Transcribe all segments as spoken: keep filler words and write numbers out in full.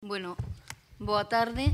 Bueno, boa tarde.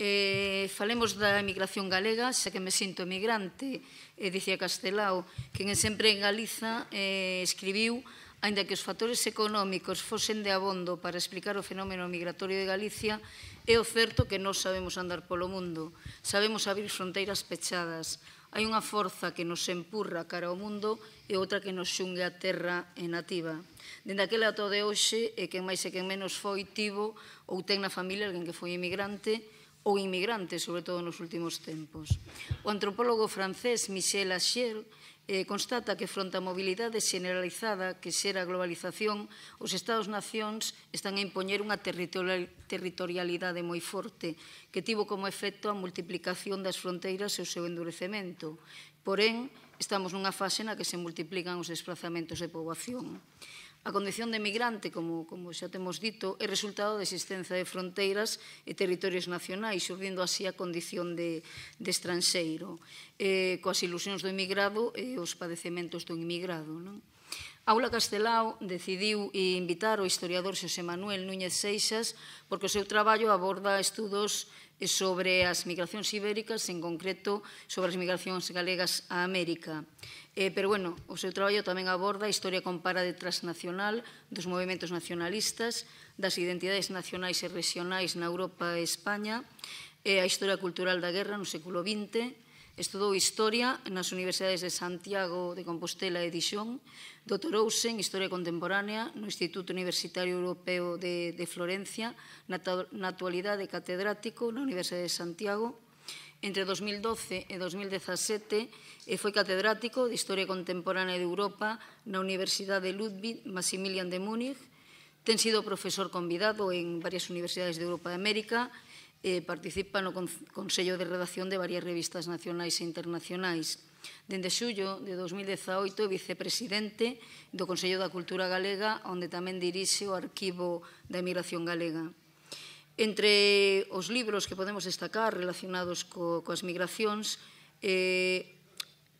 Eh, falemos da emigración galega, xa que me sinto emigrante, eh, dicía Castelao, que sempre en Galiza eh, escribiu, aínda que os factores económicos fosen de abondo para explicar o fenómeno migratorio de Galicia, é o certo que non sabemos andar polo mundo, sabemos abrir fronteiras pechadas. Hai unha forza que nos empurra cara ao mundo e outra que nos xungue a terra e nativa. Dende aquela ato de hoxe, e quen máis e quen menos foi, tivo ou ten na familia alguén que foi emigrante ou inmigrante, sobre todo nos últimos tempos. O antropólogo francés Michel Acher eh, constata que fronte á mobilidade generalizada que xera a globalización, os Estados-nacións están a impoñer unha territorialidade moi forte que tivo como efecto a multiplicación das fronteiras e o seu endurecemento. Porén, estamos nunha fase na que se multiplican os desplazamentos de poboación. A condición de emigrante, como, como xa temos dito, é resultado da existencia de fronteiras e territorios nacionais, surdindo así a condición de, de estranxeiro, eh, coas ilusións do emigrado e os padecementos do inmigrado. Non? Aula Castelao decidiu invitar o historiador Xosé Manuel Núñez Seixas porque o seu traballo aborda estudos sobre as migracións ibéricas, en concreto sobre as migracións galegas a América. Eh, pero, bueno, o seu traballo tamén aborda a historia comparada e transnacional dos movimentos nacionalistas, das identidades nacionais e regionais na Europa e España, e a historia cultural da guerra no século vinte, estudou Historia nas Universidades de Santiago de Compostela e Dijon, doutorouse en Historia Contemporánea no Instituto Universitario Europeo de, de Florencia, na, na actualidade catedrático na Universidade de Santiago. Entre dos mil doce e dos mil dezasete foi catedrático de Historia Contemporánea de Europa na Universidade Ludwig Maximilian de Múnich. Ten sido profesor convidado en varias universidades de Europa e América. Eh, participa no Consello de Redacción de varias revistas nacionais e internacionais. Dende xullo de dos mil dezaoito é vicepresidente do Consello da Cultura Galega, onde tamén dirixe o Arquivo da Emigración Galega. Entre os libros que podemos destacar relacionados co, coas migracións, eh,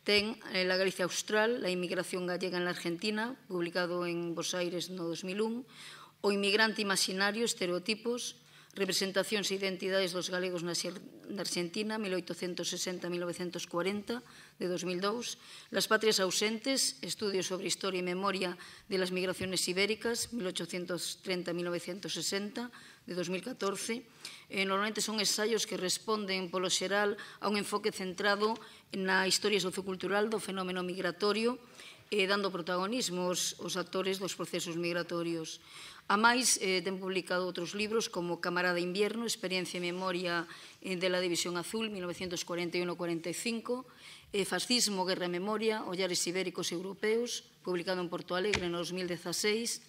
ten La Galicia Austral, La inmigración gallega en la Argentina, publicado en Bos Aires no dos mil un, O inmigrante imaginario, estereotipos, Representacións e identidades dos galegos na Argentina, mil oitocentos sesenta a mil novecentos cuarenta, de dos mil dous, Las patrias ausentes, estudios sobre historia e memoria de las migraciones ibéricas, mil ochocientos treinta a mil novecientos sesenta, de dos mil catorce. Eh, normalmente son ensaios que responden, polo xeral, a un enfoque centrado na historia sociocultural do fenómeno migratorio, eh, dando protagonismo aos, aos actores dos procesos migratorios. A máis, eh, ten publicado outros libros como Camarada Invierno, Experiencia e Memoria eh, de la División Azul, mil novecientos cuarenta y uno a cuarenta y cinco, eh, Fascismo, Guerra e Memoria, Ollares Ibéricos e Europeos, publicado en Porto Alegre no dos mil dezaseis,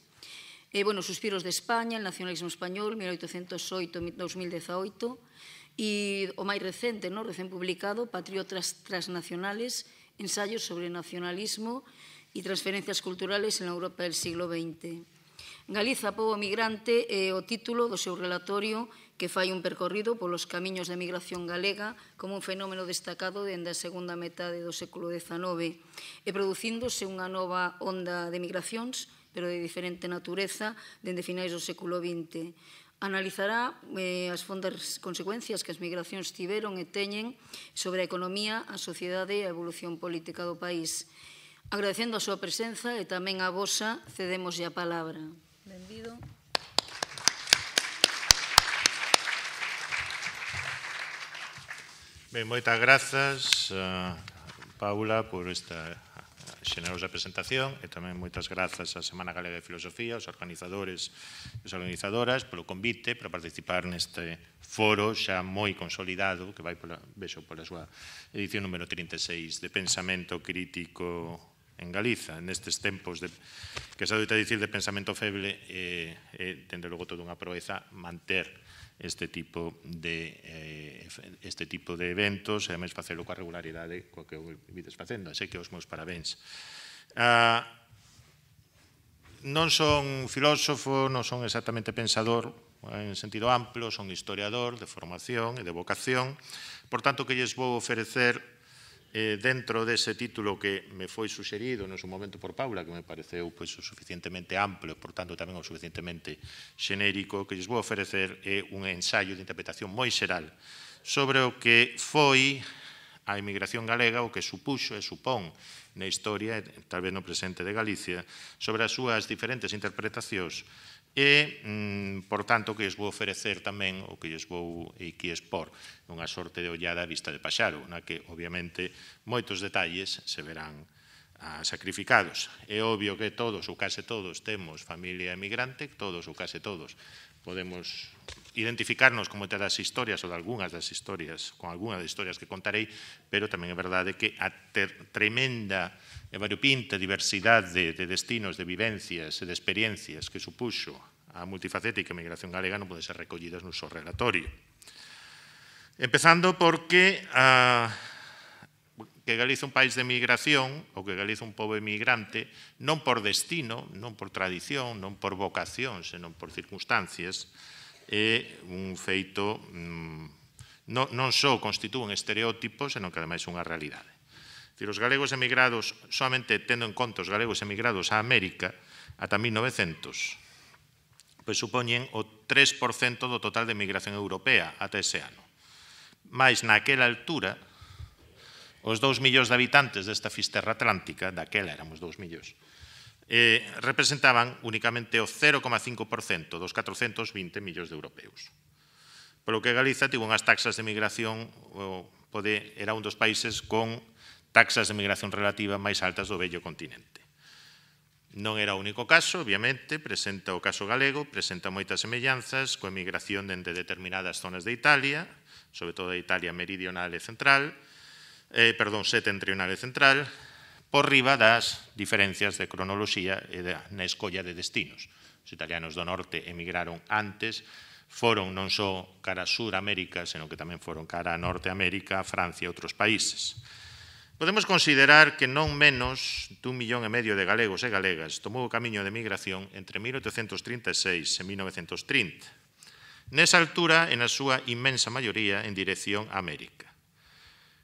eh, bueno, Suspiros de España, El nacionalismo español, mil oitocentos oito a dos mil dezaoito, e o máis recente, no, recén publicado, Patriotas transnacionales, ensayos sobre nacionalismo e transferencias culturales en la Europa del siglo veinte. Galiza, pobo migrante, é o título do seu relatorio que fai un percorrido polos camiños de migración galega como un fenómeno destacado dende a segunda metade do século dezanove e producíndose unha nova onda de migracións, pero de diferente natureza, dende finais do século vinte. Analizará eh, as fondas consecuencias que as migracións tiveron e teñen sobre a economía, a sociedade e a evolución política do país. Agradecendo a súa presenza e tamén a vosa, cedémoslle a palabra. Benvido. Ben, moitas grazas, uh, Paula, por esta xenerosa presentación e tamén moitas grazas á Semana Galega de Filosofía, aos organizadores e as organizadoras polo convite para participar neste foro xa moi consolidado que vai pola, vexo pola súa edición número trinta e seis de Pensamento Crítico en Galiza, nestes tempos de, que se adoita dicir de pensamento feble, é, eh, dende logo toda unha proeza manter este tipo de eh, este tipo de eventos e ademais facelo coa regularidade coa que o vides facendo, así que os meus parabéns. Ah, non son filósofo, non son exactamente pensador en sentido amplo, son historiador de formación e de vocación, por tanto que lles vou oferecer eh, dentro dese título que me foi suxerido no seu momento por Paula, que me pareceu pois, o suficientemente amplio, por tanto tamén o suficientemente xenérico, que lles vou oferecer é un ensaio de interpretación moi xeral sobre o que foi a emigración galega, o que supuxo e supón na historia, tal vez no presente de Galicia, sobre as súas diferentes interpretacións e, mm, por tanto, que lles vou oferecer tamén o que lles vou aquí expor unha sorte de ollada a vista de paxaro, na que, obviamente, moitos detalles se verán ah, sacrificados. É obvio que todos, ou case todos, temos familia emigrante, todos ou case todos, podemos identificarnos con moitas das historias ou de algunhas das historias, con algunhas das historias que contarei, pero tamén é verdade que a ter, tremenda e variopinta diversidade de, de destinos, de vivencias e de experiencias que supuxo a multifacética emigración galega non pode ser recollidas no seu relatorio. Empezando porque a, que Galiza é un país de emigración, ou que Galiza é un pobo emigrante, non por destino, non por tradición, non por vocación, senón por circunstancias, é un feito mm, non, non só constitúen estereótipos, senón que ademais é unha realidade. Os galegos emigrados, solamente tendo en conta os galegos emigrados a América, ata mil novecientos, pois supoñen o tres por cento do total de emigración europea ata ese ano. Mais naquela altura, os dous millóns de habitantes desta fisterra atlántica, daquela éramos dous millóns, eh, representaban únicamente o cero coma cinco por cento dos catrocentos vinte millóns de europeos. Polo que Galiza tivo unhas taxas de emigración, o, pode, era un dos países con taxas de migración relativa máis altas do vello continente. Non era o único caso, obviamente, presenta o caso galego, presenta moitas semellanzas coa emigración dende determinadas zonas de Italia, sobre todo de Italia meridional e central, eh, perdón, setentrional e central, por riba das diferencias de cronoloxía e de, na escolla de destinos. Os italianos do norte emigraron antes, foron non só cara a Suramérica, senón que tamén foron cara a Norteamérica, Francia e outros países. Podemos considerar que non menos dun millón e medio de galegos e galegas tomou o camiño de migración entre mil oitocentos trinta e seis e mil novecentos trinta. Nesa altura, en a súa inmensa maioría, en dirección a América.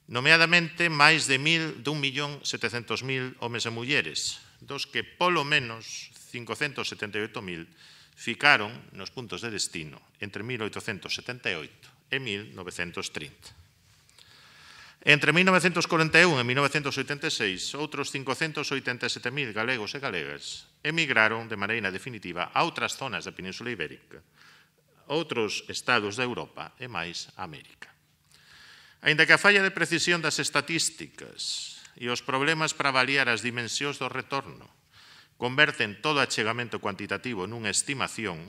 Nomeadamente, máis de un millón setecentos mil homes e mulleres, dos que polo menos cincocentos setenta e oito mil ficaron nos puntos de destino entre mil oitocentos setenta e oito e mil novecentos trinta. Entre mil novecentos corenta e un e mil novecentos oitenta e seis, outros cincocentos oitenta e sete mil galegos e galegas emigraron de maneira definitiva a outras zonas da Península Ibérica, outros estados da Europa e máis a América. Aínda que a falla de precisión das estatísticas e os problemas para avaliar as dimensións do retorno converten todo achegamento cuantitativo nunha estimación,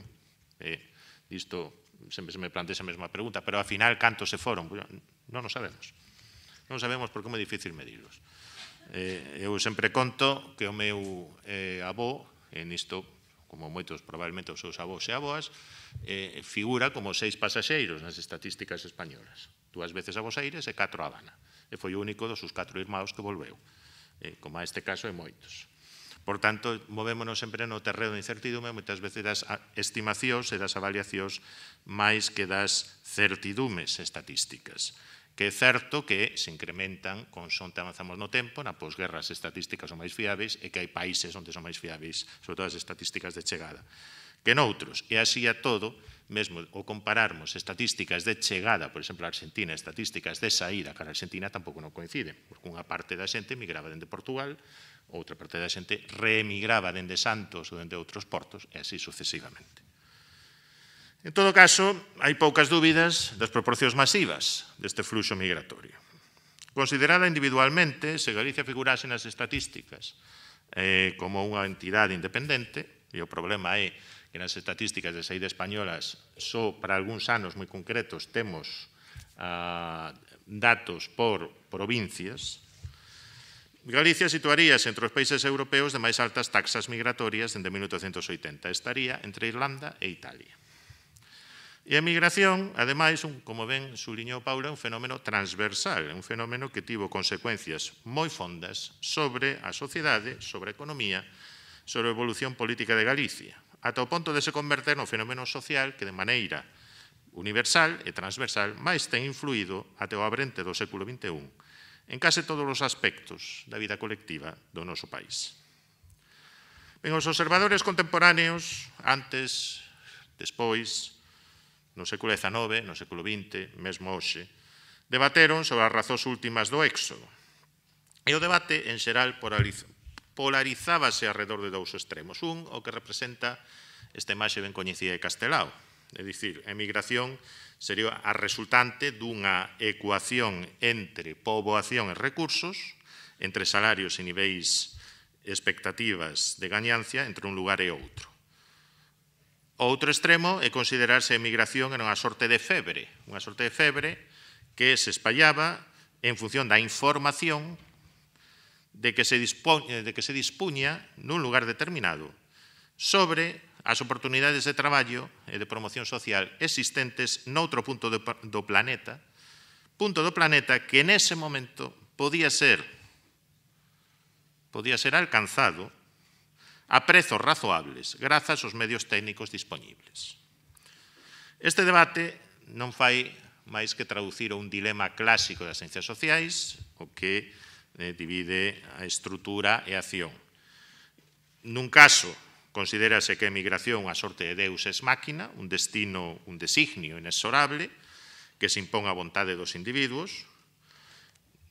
e isto sempre se me plantea esa mesma pregunta, pero ao final cantos se foron? Non o sabemos. Non sabemos porque é moi difícil medirlos. Eh, eu sempre conto que o meu eh, avó, en isto, como moitos probablemente os seus avós e avoas, eh, figura como seis pasaxeiros nas estatísticas españolas. Dúas veces a Bos Aires e catro a Habana. E foi o único dos seus catro irmãos que volveu. Eh, como a este caso, e moitos. Por tanto, movémonos sempre no terreo de incertidume, moitas veces das estimacións e das avaliacións máis que das certidumes estatísticas. Que é certo que se incrementan consonte avanzamos no tempo, na posguerra as estatísticas son máis fiáveis e que hai países onde son máis fiáveis, sobre todo as estatísticas de chegada, que noutros. E así a todo, mesmo o compararmos estatísticas de chegada, por exemplo, a Argentina, estatísticas de saída cara a Argentina tampouco non coinciden, porque unha parte da xente migraba dende Portugal, outra parte da xente reemigraba dende Santos ou dende outros portos, e así sucesivamente. En todo caso, hai poucas dúbidas das proporcións masivas deste fluxo migratorio. Considerada individualmente, se Galicia figurase nas estatísticas eh, como unha entidade independente, e o problema é que nas estatísticas de saída españolas só para algúns anos moi concretos temos ah, datos por provincias, Galicia situaríase entre os países europeos de máis altas taxas migratorias dende mil oitocentos oitenta. Estaría entre Irlanda e Italia. E a migración, ademais, un, como ben suliñou Paula, un fenómeno transversal, un fenómeno que tivo consecuencias moi fondas sobre a sociedade, sobre a economía, sobre a evolución política de Galicia, ata o ponto de se converter no fenómeno social que de maneira universal e transversal máis ten influído até o abrente do século vinte e un en case todos os aspectos da vida colectiva do noso país. Ben, os observadores contemporáneos, antes, despois, no século dezanove, no século vinte, mesmo hoxe, debateron sobre as razóns últimas do éxodo. E o debate, en xeral, polarizábase alrededor de dous extremos. Un, o que representa esta imaxe ben coñecida de Castelao, é dicir, a emigración sería a resultante dunha ecuación entre poboación e recursos, entre salarios e niveis expectativas de gañancia entre un lugar e outro. O outro extremo é considerarse a emigración era unha sorte de febre, unha sorte de febre que se espallaba en función da información de que se dispuña, de que se dispuña nun lugar determinado sobre as oportunidades de traballo e de promoción social existentes noutro punto do, do planeta, punto do planeta que nese momento podía ser, podía ser alcanzado a prezos razoables grazas aos medios técnicos dispoñibles. Este debate non fai máis que traducir un dilema clásico das ciencias sociais, o que eh, divide a estrutura e a acción. Nun caso, considérase que a emigración a sorte de Deus ex máquina, un destino, un designio inexorable que se impón a vontade dos individuos.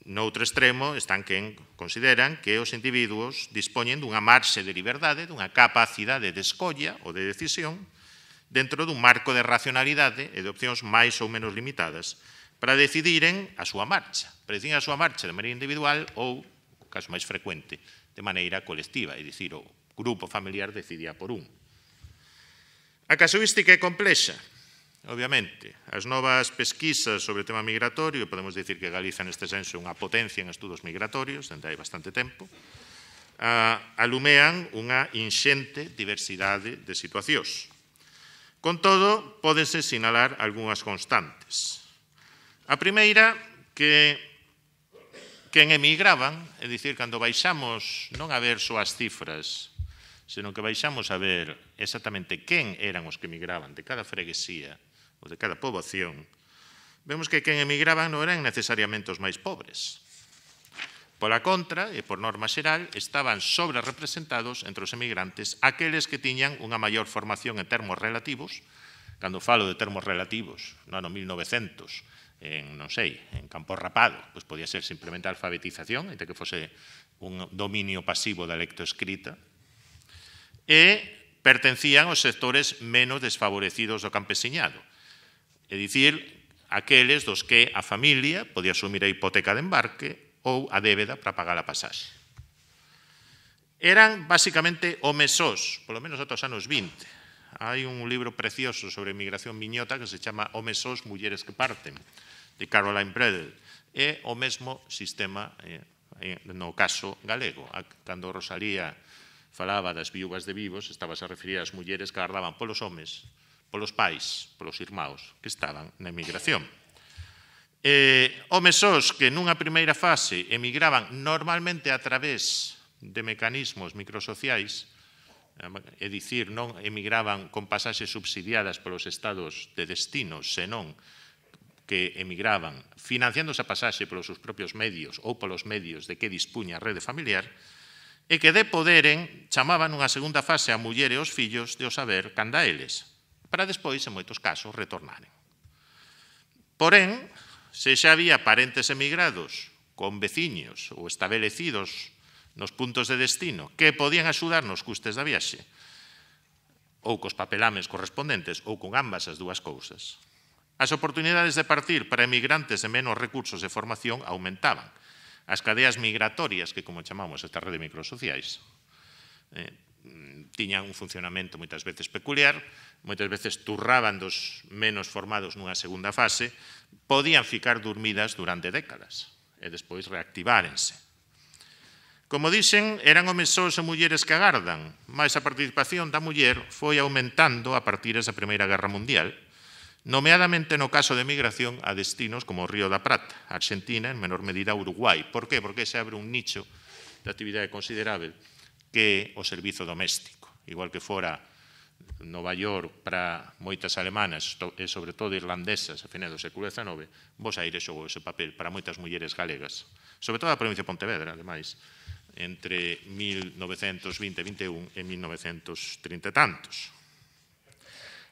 Noutro extremo están quen consideran que os individuos dispoñen dunha marxe de liberdade, dunha capacidade de escolla ou de decisión dentro dun marco de racionalidade e de opcións máis ou menos limitadas para decidiren a súa marcha, para decidir a súa marcha de maneira individual ou, o caso máis frecuente, de maneira colectiva, é dicir, o grupo familiar decidía por un. A casuística é complexa, obviamente. As novas pesquisas sobre o tema migratorio, podemos dicir que Galiza neste senso é unha potencia en estudos migratorios, dende hai bastante tempo, alumean unha inxente diversidade de situacións. Con todo, pódense sinalar algunhas constantes. A primeira, que quen emigraban, é dicir, cando baixamos non a ver só as cifras, senón que baixamos a ver exactamente quen eran os que emigraban de cada freguesía ou de cada poboación, vemos que quen emigraban non eran necesariamente os máis pobres. Pola contra, e por norma xeral, estaban sobre representados entre os emigrantes aqueles que tiñan unha maior formación en termos relativos. Cando falo de termos relativos, no ano mil novecentos, en, non sei, en Campo Rapado, pois podía ser simplemente a alfabetización, entre que fose un dominio pasivo da lectoescrita, e pertencían aos sectores menos desfavorecidos do campesiñado. É dicir, aqueles dos que a familia podía asumir a hipoteca de embarque ou a débeda para pagar a pasaxe. Eran, basicamente, homes sós, polo menos ata os anos vinte. Hai un libro precioso sobre emigración miñota que se chama Homes sós, mulleres que parten, de Caroline Bredel. É o mesmo sistema no caso galego. Cando Rosalía falaba das viúvas de vivos, estabas a referir ás mulleres que agardaban polos homes, polos pais, polos irmãos que estaban na emigración. Eh, homes sós que nunha primeira fase emigraban normalmente a través de mecanismos microsociais, é dicir, non emigraban con pasaxes subsidiadas polos estados de destino, senón que emigraban financiando esa pasaxe polos seus propios medios ou polos medios de que dispuña a rede familiar, e que de poderen chamaban unha segunda fase a muller e os fillos de o saber canda eles, para despois, en moitos casos, retornaren. Porén, se xa había parentes emigrados con veciños ou establecidos nos puntos de destino que podían axudar nos custes da viaxe, ou cos papelames correspondentes, ou con ambas as dúas cousas, as oportunidades de partir para emigrantes de menos recursos de formación aumentaban. As cadeas migratorias, que como chamamos esta rede de microsociais, eh, tiñan un funcionamento moitas veces peculiar, moitas veces turraban dos menos formados nunha segunda fase, podían ficar dormidas durante décadas e despois reactivárense. Como dixen, eran homes sós e mulleres que agardan, mas a participación da muller foi aumentando a partir da Primeira Guerra Mundial, nomeadamente no caso de migración a destinos como o Río da Prata, Argentina, en menor medida Uruguai. Por que? Porque se abre un nicho de actividade considerável que é o servizo doméstico. Igual que fora Nova York para moitas alemanas e sobre todo irlandesas a final do século dezenove, Bos Aires xogou ese papel para moitas mulleres galegas, sobre todo a provincia de Pontevedra, ademais, entre mil novecentos vinte e vinte e un e mil novecentos trinta e tantos.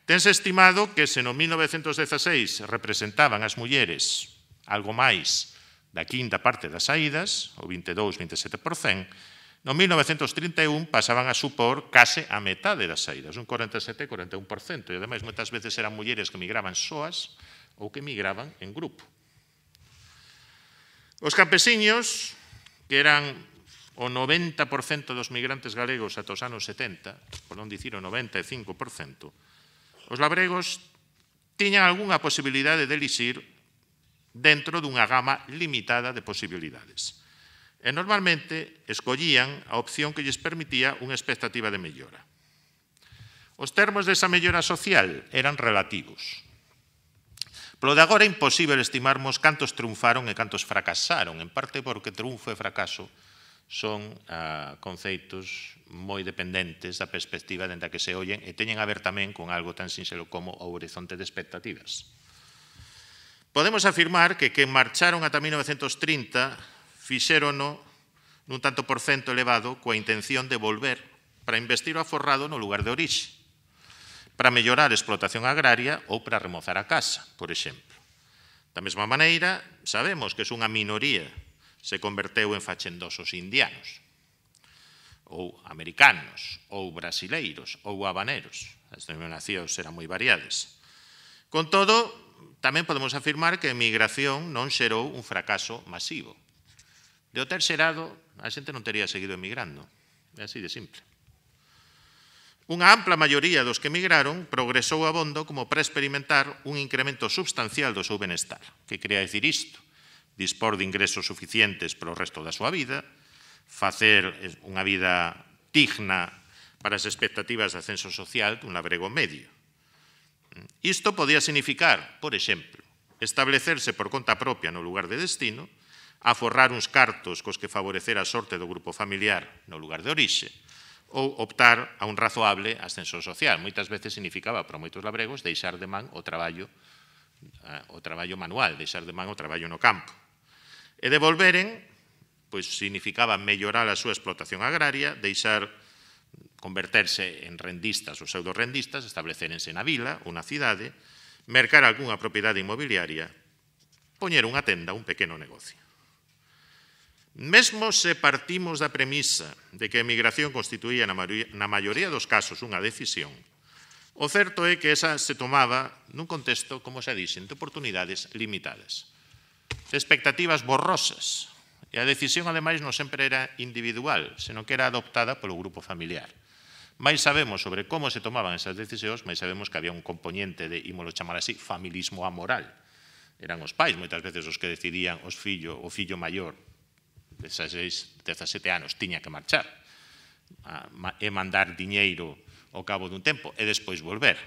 Tense estimado que se no mil novecentos dezaseis representaban as mulleres algo máis da quinta parte das saídas, o vinte e dous a vinte e sete por cento, no mil novecentos trinta e un pasaban a supor case a metade das saídas, un cuarenta e sete a cuarenta e un por cento, e ademais moitas veces eran mulleres que migraban soas ou que migraban en grupo. Os campesiños, que eran o noventa por cento dos migrantes galegos ata os anos setenta, por non dicir o noventa e cinco por cento, os labregos tiñan algunha posibilidade de elixir dentro dunha gama limitada de posibilidades. E normalmente escollían a opción que lles permitía unha expectativa de mellora. Os termos desa mellora social eran relativos. Polo de agora é imposible estimarmos cantos triunfaron e cantos fracasaron, en parte porque triunfo e fracaso son uh, conceitos moi dependentes da perspectiva dentro que se ollen e teñen a ver tamén con algo tan sinxelo como o horizonte de expectativas. Podemos afirmar que quen marcharon ata mil novecentos trinta fixérono nun tanto por cento elevado coa intención de volver para investir o aforrado no lugar de orixe, para mellorar a explotación agraria ou para remozar a casa, por exemplo. Da mesma maneira, sabemos que se unha minoría se converteu en fachendosos indianos, ou americanos, ou brasileiros, ou habaneros. As denominacións eran moi variadas. Con todo, tamén podemos afirmar que a emigración non xerou un fracaso masivo. De o ter xerado, a xente non tería seguido emigrando. É así de simple. Unha ampla maioría dos que emigraron progresou abondo como para experimentar un incremento substancial do seu benestar. Que quería dicir isto? Dispor de ingresos suficientes para o resto da súa vida, facer unha vida digna para as expectativas de ascenso social dun labrego medio. Isto podía significar, por exemplo, establecerse por conta propia no lugar de destino, aforrar uns cartos cos que favorecer a sorte do grupo familiar no lugar de orixe, ou optar a un razoable ascenso social. Moitas veces significaba para moitos labregos deixar de man o traballo, o traballo manual, deixar de man o traballo no campo. E de volveren, pois significaba mellorar a súa explotación agraria, deixar converterse en rendistas ou pseudo-rendistas, establecérense na vila ou na cidade, mercar algunha propiedade inmobiliaria, poñer unha tenda, un pequeno negocio. Mesmo se partimos da premisa de que a emigración constituía na maioría dos casos unha decisión, o certo é que esa se tomaba nun contexto, como xa dixen, de oportunidades limitadas, de expectativas borrosas, e a decisión, ademais, non sempre era individual, senón que era adoptada polo grupo familiar. Mais sabemos sobre como se tomaban esas decisións, mais sabemos que había un componente de, ímolo chamar así, familismo amoral. Eran os pais, moitas veces, os que decidían os fillo, o fillo maior, dezaseis, dezasete anos, tiña que marchar e mandar diñeiro ao cabo dun tempo e despois volver.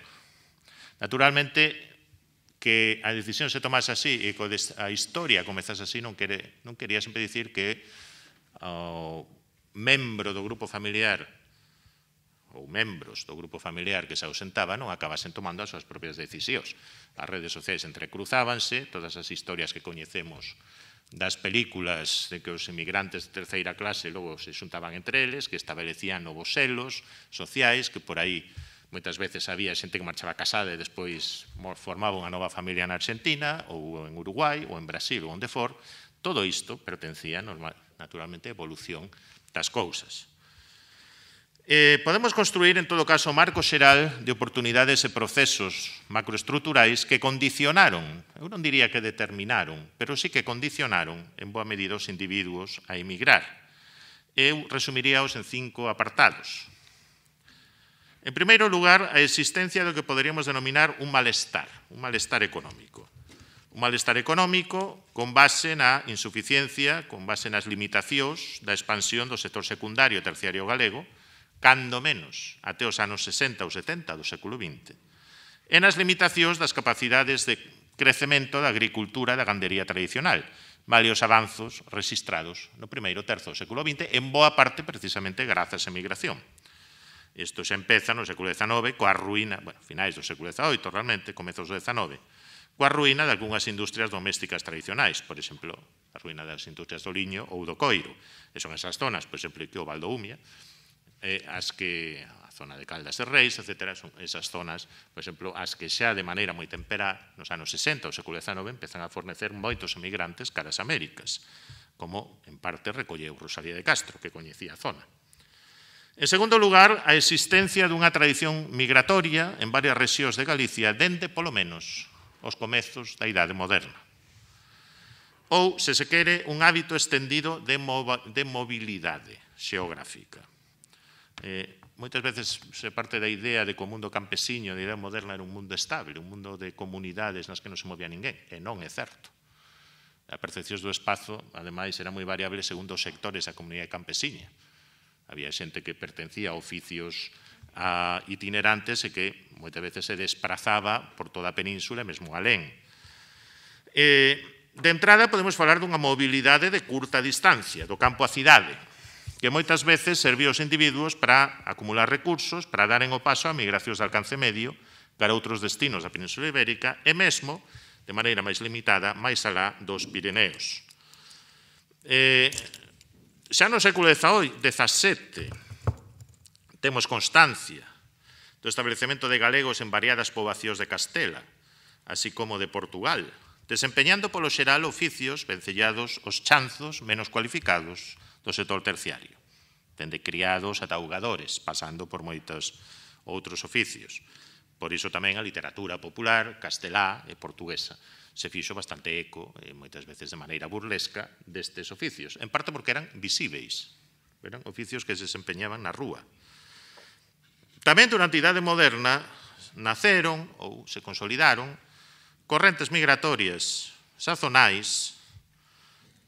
Naturalmente, que a decisión se tomase así e que a historia comezase así non, quere, non quería sempre dicir que o membro do grupo familiar ou membros do grupo familiar que se ausentaba non acabasen tomando as súas propias decisións. As redes sociais entrecruzábanse, todas as historias que coñecemos das películas de que os inmigrantes de terceira clase logo se xuntaban entre eles, que establecían novos selos sociais, que por aí moitas veces había xente que marchaba casada e despois formaba unha nova familia na Argentina, ou en Uruguai, ou en Brasil, ou onde for. Todo isto pertencía, naturalmente, á evolución das cousas. Eh, podemos construir, en todo caso, o marco xeral de oportunidades e procesos macroestruturais que condicionaron, eu non diría que determinaron, pero sí que condicionaron en boa medida os individuos a emigrar. Eu resumiríaos en cinco apartados. En primeiro lugar, a existencia do que poderíamos denominar un malestar, un malestar económico. Un malestar económico con base na insuficiencia, con base nas limitacións da expansión do sector secundario e terciario galego, cando menos até os anos sesenta ou setenta do século vinte, e nas limitacións das capacidades de crecemento da agricultura e da gandería tradicional, vale os avanzos registrados no primeiro terzo do século vinte, en boa parte precisamente grazas á emigración. Isto xa empeza no século dezanove coa ruína, bueno, finais do século dezaoito realmente, comezos do dezanove, coa ruína de algunhas industrias domésticas tradicionais, por exemplo, a ruína das industrias do liño ou do coiro. E son esas zonas, por exemplo, que o Val do Umia, eh, as que a zona de Caldas de Reis, etcétera, son esas zonas, por exemplo, as que xa de maneira moi temperá nos anos sesenta, o século dezanove, empezan a fornecer moitos emigrantes caras Américas, como en parte recolleu Rosalía de Castro, que coñecía a zona. En segundo lugar, a existencia dunha tradición migratoria en varias rexións de Galicia dende, polo menos, os comezos da Idade Moderna. Ou, se se quere, un hábito extendido de, de mobilidade xeográfica. Eh, moitas veces se parte da idea de que o mundo campesiño, da idea moderna, era un mundo estable, un mundo de comunidades nas que non se movía ninguén, e non é certo. A percepción do espazo, ademais, era moi variable segundo os sectores da comunidade campesiña. Había xente que pertencía a oficios a itinerantes e que moitas veces se desprazaba por toda a península e mesmo alén. Eh, de entrada, podemos falar dunha mobilidade de curta distancia, do campo á cidade, que moitas veces servía aos individuos para acumular recursos, para daren o paso a migracións de alcance medio cara a outros destinos da Península Ibérica e mesmo, de maneira máis limitada, máis alá dos Pirineos. Eh, Xa no século dezasete temos constancia do establecemento de galegos en variadas poboacións de Castela, así como de Portugal, desempeñando polo xeral oficios vencellados os chanzos menos cualificados do sector terciario, dende criados ata augadores, pasando por moitos outros oficios. Por iso tamén a literatura popular castelá e portuguesa se fixo bastante eco, e moitas veces de maneira burlesca, destes oficios. En parte porque eran visíveis, eran oficios que se desempeñaban na rúa. Tamén durante a Idade Moderna naceron ou se consolidaron correntes migratorias sazonais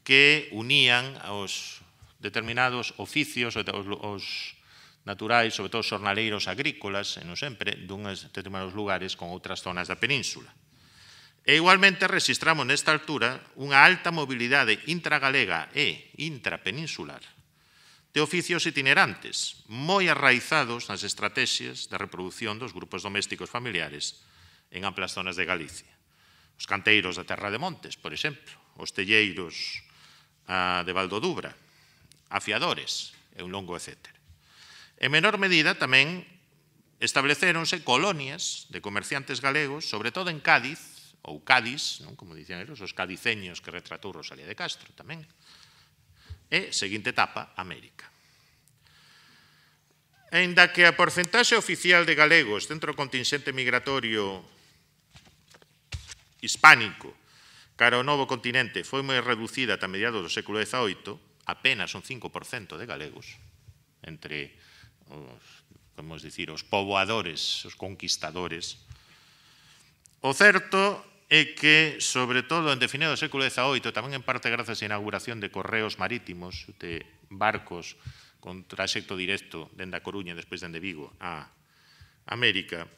que unían aos determinados oficios, os naturais, sobre todo xornaleiros agrícolas, e non sempre, duns determinados lugares con outras zonas da península. E igualmente registramos nesta altura unha alta mobilidade intragalega e intrapeninsular de oficios itinerantes, moi arraizados nas estrategias de reproducción dos grupos domésticos familiares en amplas zonas de Galicia. Os canteiros da Terra de Montes, por exemplo, os telleiros de Valdodubra, afiadores e un longo etcétera. En menor medida tamén estableceronse colonias de comerciantes galegos, sobre todo en Cádiz, ou Cádiz, non? Como dicían eles, os cadiceños que retratou Rosalía de Castro tamén. E, seguinte etapa, América. Aínda que a porcentaxe oficial de galegos dentro do contingente migratorio hispánico cara ao novo continente foi moi reducida ata mediados do século dezaoito, apenas un cinco por cento de galegos entre os, como dicir, os poboadores, os conquistadores. O certo é que, sobre todo, en definido do século dezaoito, tamén en parte grazas á inauguración de correos marítimos, de barcos con traxecto directo dende a Coruña e despois dende Vigo a América,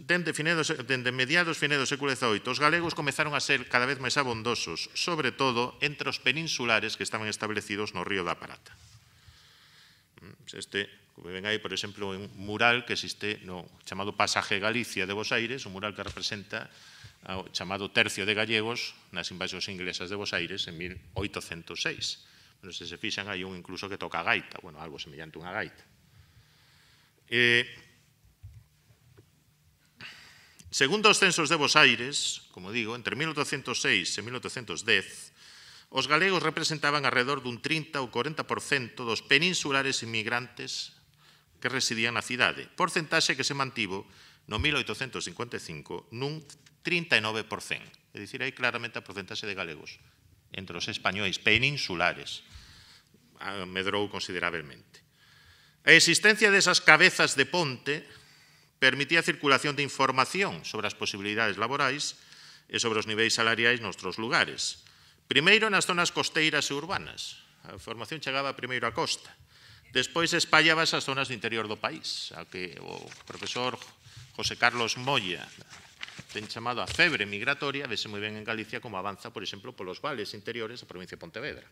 dende, dende mediados finais do século dezaoito, os galegos comezaron a ser cada vez máis abondosos, sobre todo entre os peninsulares que estaban establecidos no Río da Prata. Este, como ven aí, por exemplo, un mural que existe no chamado Pasaje Galicia de Bos Aires, un mural que representa o chamado Tercio de Gallegos nas invasións inglesas de Bos Aires en mil oitocentos seis. Bueno, se se fixan, hai un incluso que toca a gaita, bueno, algo semellante a unha gaita. Eh, segundo os censos de Bos Aires, como digo, entre mil oitocentos seis e mil oitocentos dez, os galegos representaban alrededor dun trinta ou corenta por cento dos peninsulares inmigrantes que residían na cidade, porcentaxe que se mantivo no mil oitocentos cincuenta e cinco nun trinta e nove por cento. É dicir, hai claramente a porcentaxe de galegos entre os españois peninsulares medrou considerablemente. A existencia desas cabezas de ponte permitía a circulación de información sobre as posibilidades laborais e sobre os niveis salariais nos outros lugares. Primeiro nas zonas costeiras e urbanas. A información chegaba primeiro á costa. Despois espallábase as zonas do interior do país, a que o profesor José Carlos Moya ten chamado a febre migratoria, vese moi ben en Galicia como avanza, por exemplo, polos vales interiores da provincia de Pontevedra.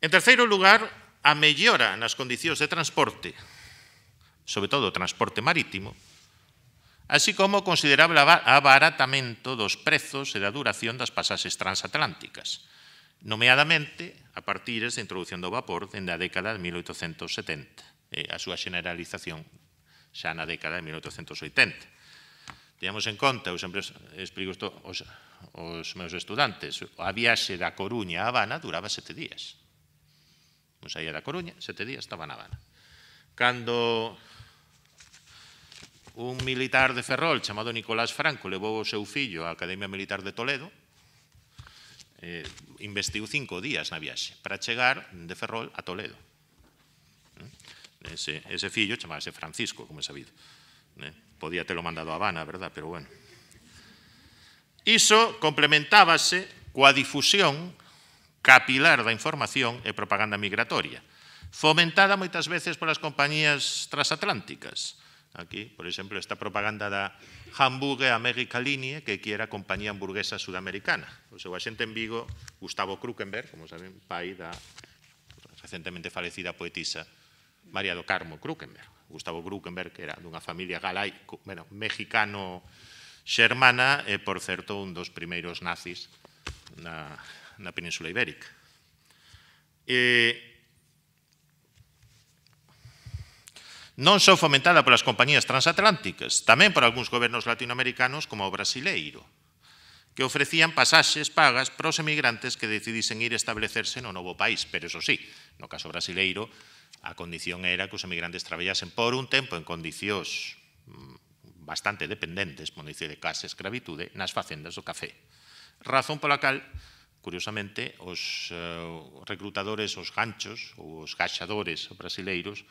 En terceiro lugar, a mellora nas condicións de transporte, sobre todo o transporte marítimo, así como o considerable abaratamento dos prezos e da duración das pasaxes transatlánticas, nomeadamente a partir da introducción do vapor dende a década de mil oitocentos setenta, e a súa generalización xa na década de mil oitocentos oitenta. Teñamos en conta, eu sempre explico isto aos, aos meus estudantes, a viaxe da Coruña a Habana duraba sete días. Non saía da Coruña, sete días estaba na Habana. Cando un militar de Ferrol chamado Nicolás Franco levou o seu fillo á Academia Militar de Toledo, eh, investiu cinco días na viaxe para chegar de Ferrol a Toledo. Ese, ese fillo chamábase Francisco, como é sabido. Eh, podía telo mandado a Habana, verdad? Pero bueno. Iso complementábase coa difusión capilar da información e propaganda migratoria, fomentada moitas veces polas compañías transatlánticas. Aquí, por exemplo, esta propaganda da Hamburger America Linie, que aquí era a compañía hamburguesa sudamericana. O seu axente en Vigo, Gustavo Krukenberg, como saben, pai da recentemente falecida poetisa María do Carmo Krukenberg. Gustavo Krukenberg, que era dunha familia galai, bueno, mexicano-xermana, e, por certo, un dos primeiros nazis na, na Península Ibérica. E, non só fomentada polas compañías transatlánticas, tamén por algúns gobernos latinoamericanos como o brasileiro, que ofrecían pasaxes pagas para os emigrantes que decidisen ir establecerse no novo país. Pero, eso sí, no caso brasileiro, a condición era que os emigrantes traballasen por un tempo en condicións bastante dependentes, por dicir de casa escravitude, nas facendas do café. Razón pola cal, curiosamente, os uh, reclutadores, os ganchos, ou os gaxadores brasileiros,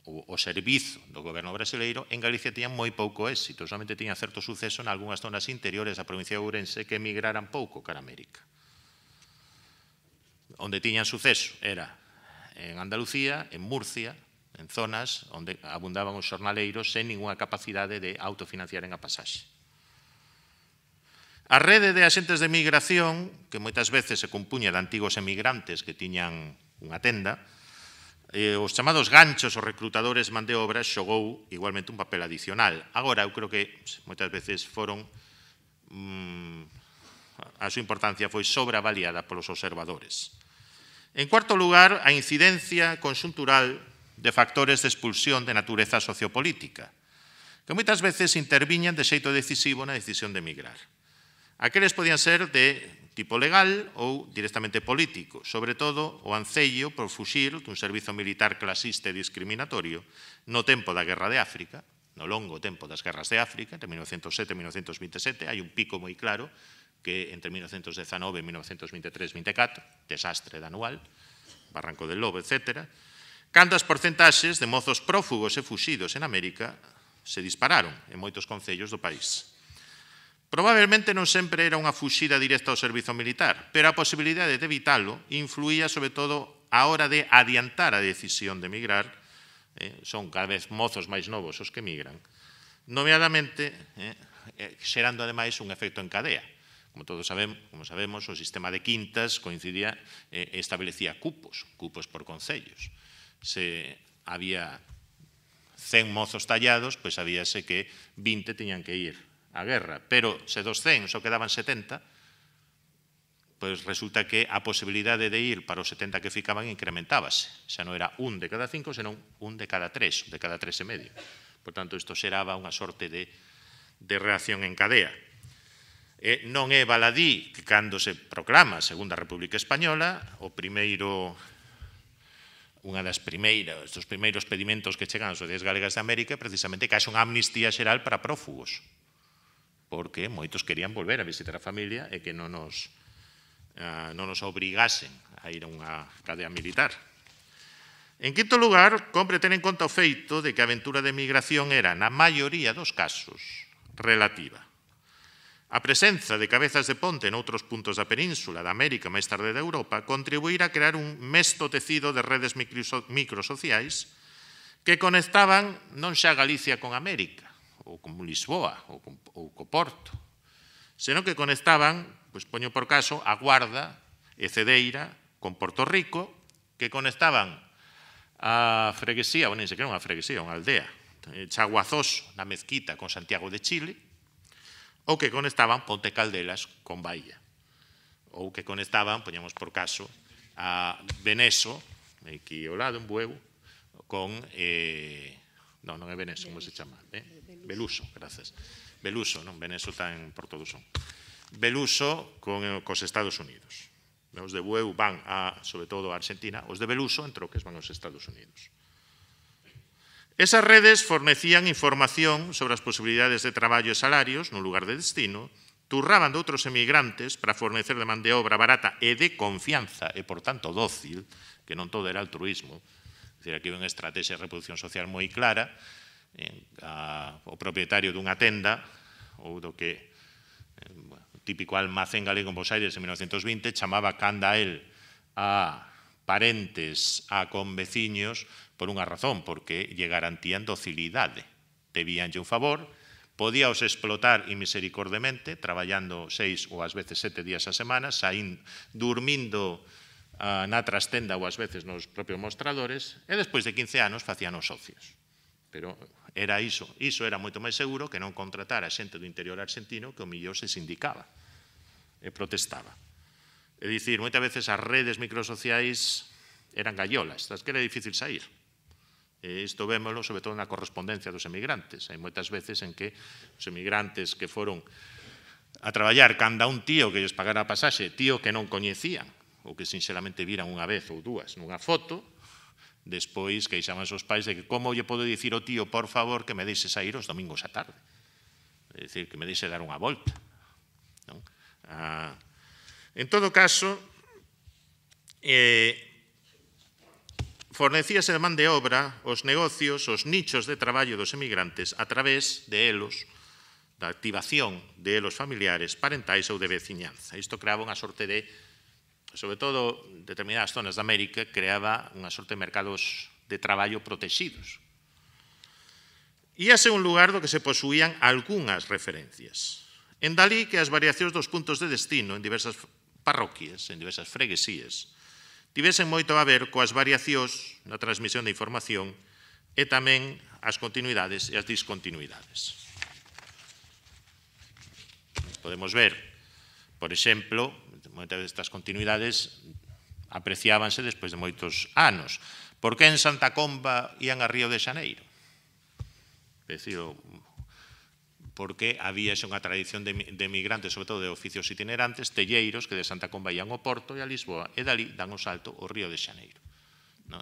o, o servizo do goberno brasileiro, en Galicia tiñan moi pouco éxito, solamente tiñan certo suceso en algunhas zonas interiores da provincia de Ourense que emigraran pouco cara a América. Onde tiñan suceso era en Andalucía, en Murcia, en zonas onde abundaban os xornaleiros sen ninguna capacidade de autofinanciaren a pasaxe. A rede de axentes de migración, que moitas veces se compuña de antigos emigrantes que tiñan unha tenda, eh, os chamados ganchos, os reclutadores man de obras, xogou igualmente un papel adicional. Agora, eu creo que moitas veces foron mmm, a súa importancia foi sobreavaliada polos observadores. En cuarto lugar, a incidencia conxuntural de factores de expulsión de natureza sociopolítica, que moitas veces interviñan de xeito decisivo na decisión de emigrar. Aqueles podían ser de tipo legal ou directamente político, sobre todo o ancello por fuxir dun servizo militar clasista e discriminatorio no tempo da Guerra de África, no longo tempo das guerras de África, entre mil novecentos sete e mil novecentos veintisiete, hai un pico moi claro, que entre mil novecentos dezanove e mil novecentos veintitrés veinticatro, desastre da anual, Barranco del Lobo, etcétera, cando as porcentaxes de mozos prófugos e fuxidos en América se dispararon en moitos concellos do país. Probablemente non sempre era unha fuxida directa ao servizo militar, pero a posibilidade de evitalo influía sobre todo a hora de adiantar a decisión de emigrar, eh, son cada vez mozos máis novos os que emigran, nomeadamente eh, xerando ademais un efecto en cadea. Como todos sabemos, como sabemos, o sistema de quintas coincidía e eh, establecía cupos, cupos por concellos. Se había cen mozos tallados, pois habíase que vinte tiñan que ir á guerra. Pero se dos cen só quedaban setenta, pois resulta que a posibilidade de ir para os setenta que ficaban incrementábase. Xa non era un de cada cinco, senón un de cada tres, de cada tres e medio. Por tanto, isto xeraba unha sorte de, de reacción en cadea. Eh, non é baladí que cando se proclama a Segunda República Española, o primeiro, unha das primeiras, dos primeiros pedimentos que chegan ás sociedades galegas de América é precisamente que haxe unha amnistía xeral para prófugos, porque moitos querían volver a visitar a familia e que non nos, uh, non nos obrigasen a ir a unha cadea militar. En quinto lugar, compre ter en conta o feito de que a aventura de migración era, na maioría dos casos, relativa. A presenza de cabezas de ponte noutros puntos da península, da América, máis tarde da Europa, contribuíra a crear un mesto tecido de redes microsociais que conectaban non xa Galicia con América, ou con Lisboa, ou con, ou co Porto, senón que conectaban, pois poño por caso, a Guarda e Cedeira con Porto Rico, que conectaban a freguesía, ou nin sequera unha freguesía, unha aldea, Chaguazoso, na mezquita con Santiago de Chile, ou que conectaban Ponte Caldelas con Bahía, ou que conectaban, poñamos por caso, a Beneso, aquí ao lado, en Bueu, con... Eh, non, non é Beneso, como se chama? Eh? Beluso, grazas. Beluso, non? Beneso está en Porto do Son. Beluso con, cos Estados Unidos. Os de Bueu van, a, sobre todo, a Argentina, os de Beluso, en troques, van aos Estados Unidos. Esas redes fornecían información sobre as posibilidades de traballo e salarios no lugar de destino, turraban de outros emigrantes para fornecer de man de obra barata e de confianza, e, por tanto, dócil, que non todo era altruismo. É dicir, aquí hai unha estrategia de reproducción social moi clara. Eh, a, o propietario dunha tenda, ou do que eh, bueno, o típico almacén galego en Bos Aires en mil novecentos vinte, chamaba canda el a parentes, a conveciños, por unha razón, porque lle garantían docilidade. Debíanlle un favor, podíaos explotar inmisericordemente, traballando seis ou ás veces sete días a semana, saín, durmindo uh, na trastenda ou ás veces nos propios mostradores, e despois de quince anos facían os socios. Pero era iso, iso era moito máis seguro que non contratar a xente do interior argentino que o millón se sindicaba e protestaba. É dicir, moitas veces as redes microsociais eran gallolas, das que era difícil sair. E isto vémolo, sobre todo, na correspondencia dos emigrantes. Hai moitas veces en que os emigrantes que foron a traballar canda un tío que lles pagara a pasaxe, tío que non coñecían, ou que sinceramente viran unha vez ou dúas nunha foto, despois queixaban os pais de que como lle podo dicir ao tío, por favor, que me deixe sair os domingos a tarde. É dicir, que me deixe dar unha volta. Non? Ah, en todo caso, eh, fornecíase de man de obra os negocios, os nichos de traballo dos emigrantes a través de elos, da activación de elos familiares, parentais ou de veciñanza. Isto creaba unha sorte de, sobre todo, determinadas zonas de América, creaba unha sorte de mercados de traballo protegidos. Íase un lugar do que se posuían algunhas referencias. En dalí que as variacións dos puntos de destino en diversas parroquias, en diversas freguesías, tivesen moito a ver coas variacións na transmisión de información e tamén as continuidades e as discontinuidades. Podemos ver, por exemplo, moitas destas continuidades apreciábanse despois de moitos anos. Por que en Santa Comba ían a Río de Xaneiro? É dicir, porque había xa unha tradición de emigrantes, sobre todo de oficios itinerantes, telleiros que de Santa Comba ían ao Porto e a Lisboa, e dali dan o salto ao Río de Xaneiro.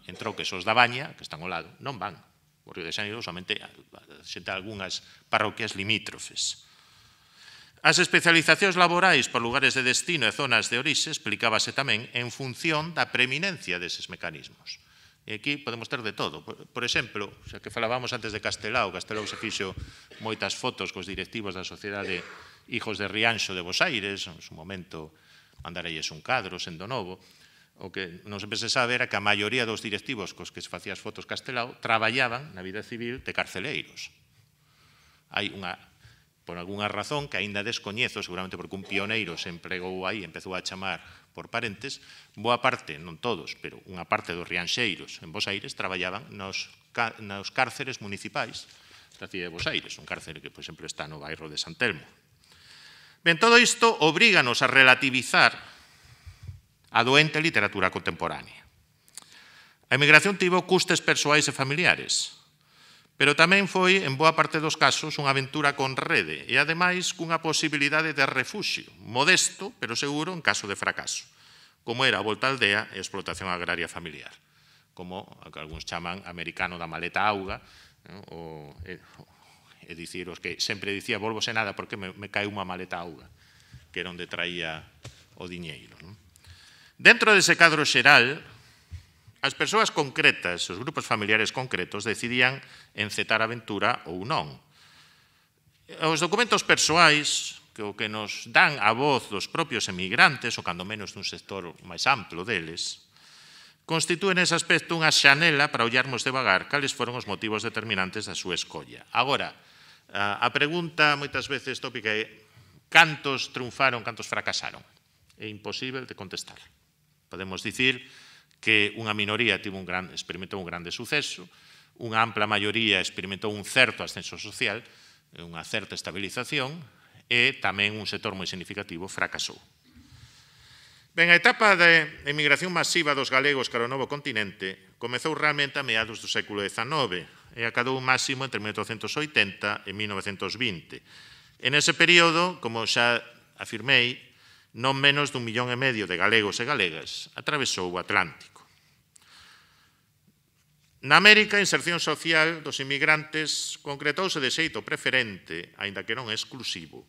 Entrou que esos da Baña, que están ao lado, non van. O Río de Xaneiro somente xente algunhas parroquias limítrofes. As especializacións laborais por lugares de destino e zonas de orixe explicábase tamén en función da preeminencia deses mecanismos. E aquí podemos ter de todo. Por exemplo, xa que falábamos antes de Castelao, Castelao se fixo moitas fotos cos directivos da Sociedade Hijos de Rianxo de Bos Aires, en su momento mandarelles un cadro, sendo novo. O que non sempre se sabe era que a maioría dos directivos cos que se facían as fotos Castelao traballaban na vida civil de carceleiros. Hai unha, por algunha razón que aínda descoñezo, seguramente porque un pioneiro se empregou aí, empezou a chamar por parentes, boa parte, non todos, pero unha parte dos rianxeiros en Bos Aires traballaban nos, nos cárceres municipais da cidade de Bos Aires, un cárcere que, por exemplo, está no bairro de San Telmo. Ben, todo isto obríganos a relativizar a doente literatura contemporánea. A emigración tivo custes persoais e familiares, pero tamén foi, en boa parte dos casos, unha aventura con rede e, ademais, cunha posibilidade de refuxio, modesto, pero seguro, en caso de fracaso, como era a volta á aldea e a explotación agraria familiar, como algúns chaman americano da maleta auga, o, é, é dicir, os que sempre dicía, volvo sen nada porque me, me cae unha maleta auga, que era onde traía o diñeiro. Non? Dentro dese cadro xeral, as persoas concretas, os grupos familiares concretos, decidían encetar a aventura ou non. Os documentos persoais, que o que nos dan a voz dos propios emigrantes, ou cando menos dun sector máis amplo deles, constitúen nese aspecto unha xanela para ollarmos devagar cales foron os motivos determinantes da súa escolla. Agora, a pregunta moitas veces tópica é cantos triunfaron, cantos fracasaron? É imposible de contestar. Podemos dicir que unha minoría tivo un gran, experimentou un grande suceso, unha ampla maioría experimentou un certo ascenso social, unha certa estabilización, e tamén un sector moi significativo fracasou. Ben, a etapa de emigración masiva dos galegos cara ao novo continente comezou realmente a meados do século dezanove e acadou un máximo entre mil oitocentos oitenta e mil novecentos vinte. En ese período, como xa afirmei, non menos dun millón e medio de galegos e galegas atravesou o Atlántico. Na América, a inserción social dos inmigrantes concretouse de xeito preferente, aínda que non exclusivo,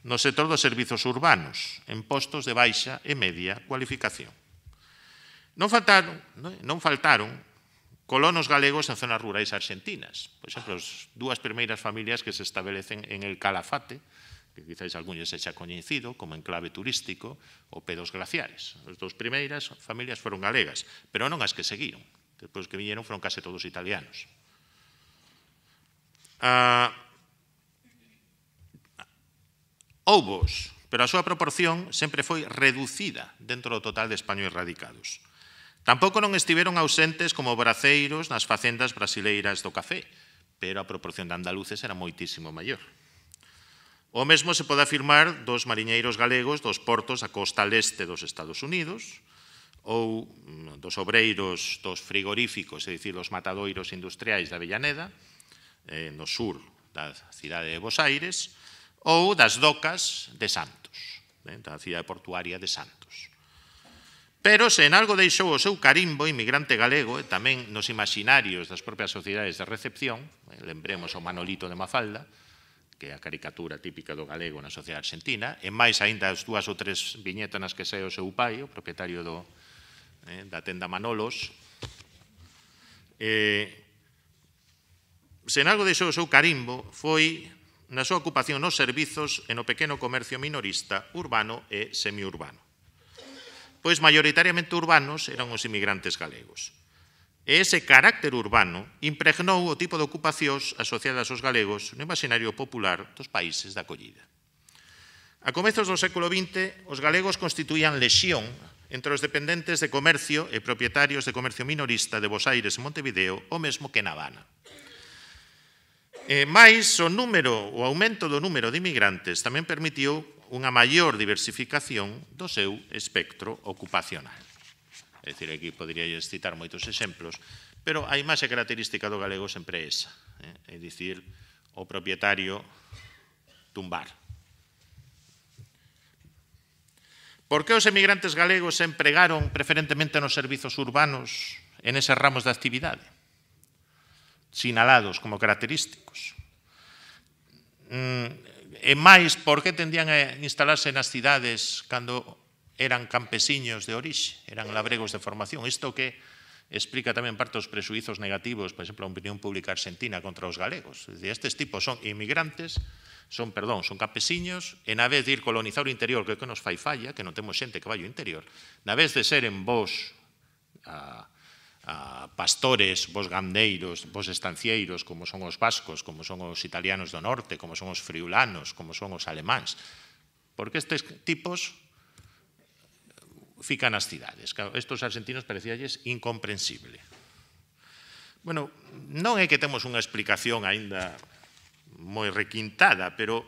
no sector dos servizos urbanos, en postos de baixa e media cualificación. Non faltaron, non faltaron colonos galegos en zonas rurais argentinas. Por exemplo, as dúas primeiras familias que se establecen en el Calafate, que quizáis algúñes se xa coñecido como enclave turístico, o Pedos Glaciares. As dúas primeiras familias foron galegas, pero non as que seguiron. Depois que viñeron foron case todos italianos. Ah, Houbos, pero a súa proporción sempre foi reducida dentro do total de españois radicados. Tampouco non estiveron ausentes como braceiros nas facendas brasileiras do café, pero a proporción de andaluces era moitísimo maior. O mesmo se pode afirmar dos mariñeiros galegos dos portos da costa leste dos Estados Unidos ou dos obreiros dos frigoríficos, é dicir, dos matadoiros industriais da Avellaneda, eh, no sur da cidade de Bos Aires, ou das docas de Santos, eh, da cidade portuaria de Santos. Pero se en algo deixou o seu carimbo inmigrante galego, e tamén nos imaginarios das propias sociedades de recepción, eh, lembremos o Manolito de Mafalda, que é a caricatura típica do galego na sociedade argentina, e máis aínda as dúas ou tres viñetas nas que sae o seu pai, o propietario do, eh, da tenda Manolos. Eh, se en algo deixou o seu carimbo foi na súa ocupación nos servizos e no pequeno comercio minorista urbano e semiurbano. Pois maioritariamente urbanos eran os inmigrantes galegos. E ese carácter urbano impregnou o tipo de ocupacións asociadas aos galegos no imaginario popular dos países de acollida. A comezos do século vinte, os galegos constituían lexión entre os dependentes de comercio e propietarios de comercio minorista de Bos Aires e Montevideo, o mesmo que na Habana. E máis, o número, o aumento do número de inmigrantes tamén permitiu unha maior diversificación do seu espectro ocupacional. É dicir, aquí poderíais citar moitos exemplos, pero a imaxe característica do galego sempre é esa, é dicir, o propietario tumbar. Por que os emigrantes galegos se empregaron preferentemente nos servizos urbanos en eses ramos de actividade, sinalados como característicos? E máis, por que tendían a instalarse nas cidades cando eran campesiños de orixe, eran labregos de formación? Isto que explica tamén parte dos presuizos negativos, por exemplo, a opinión pública argentina contra os galegos. Estes tipos son inmigrantes, son, perdón, son campesiños, e na vez de ir colonizar o interior, que é que nos fai falla, que non temos xente que vai ao interior, na vez de seren vos a, a pastores, vos gandeiros, vos estancieiros, como son os vascos, como son os italianos do norte, como son os friulanos, como son os alemáns, porque estes tipos fican nas cidades. Estos argentinos parecíalles incomprensible. Bueno, non é que temos unha explicación aínda moi requintada, pero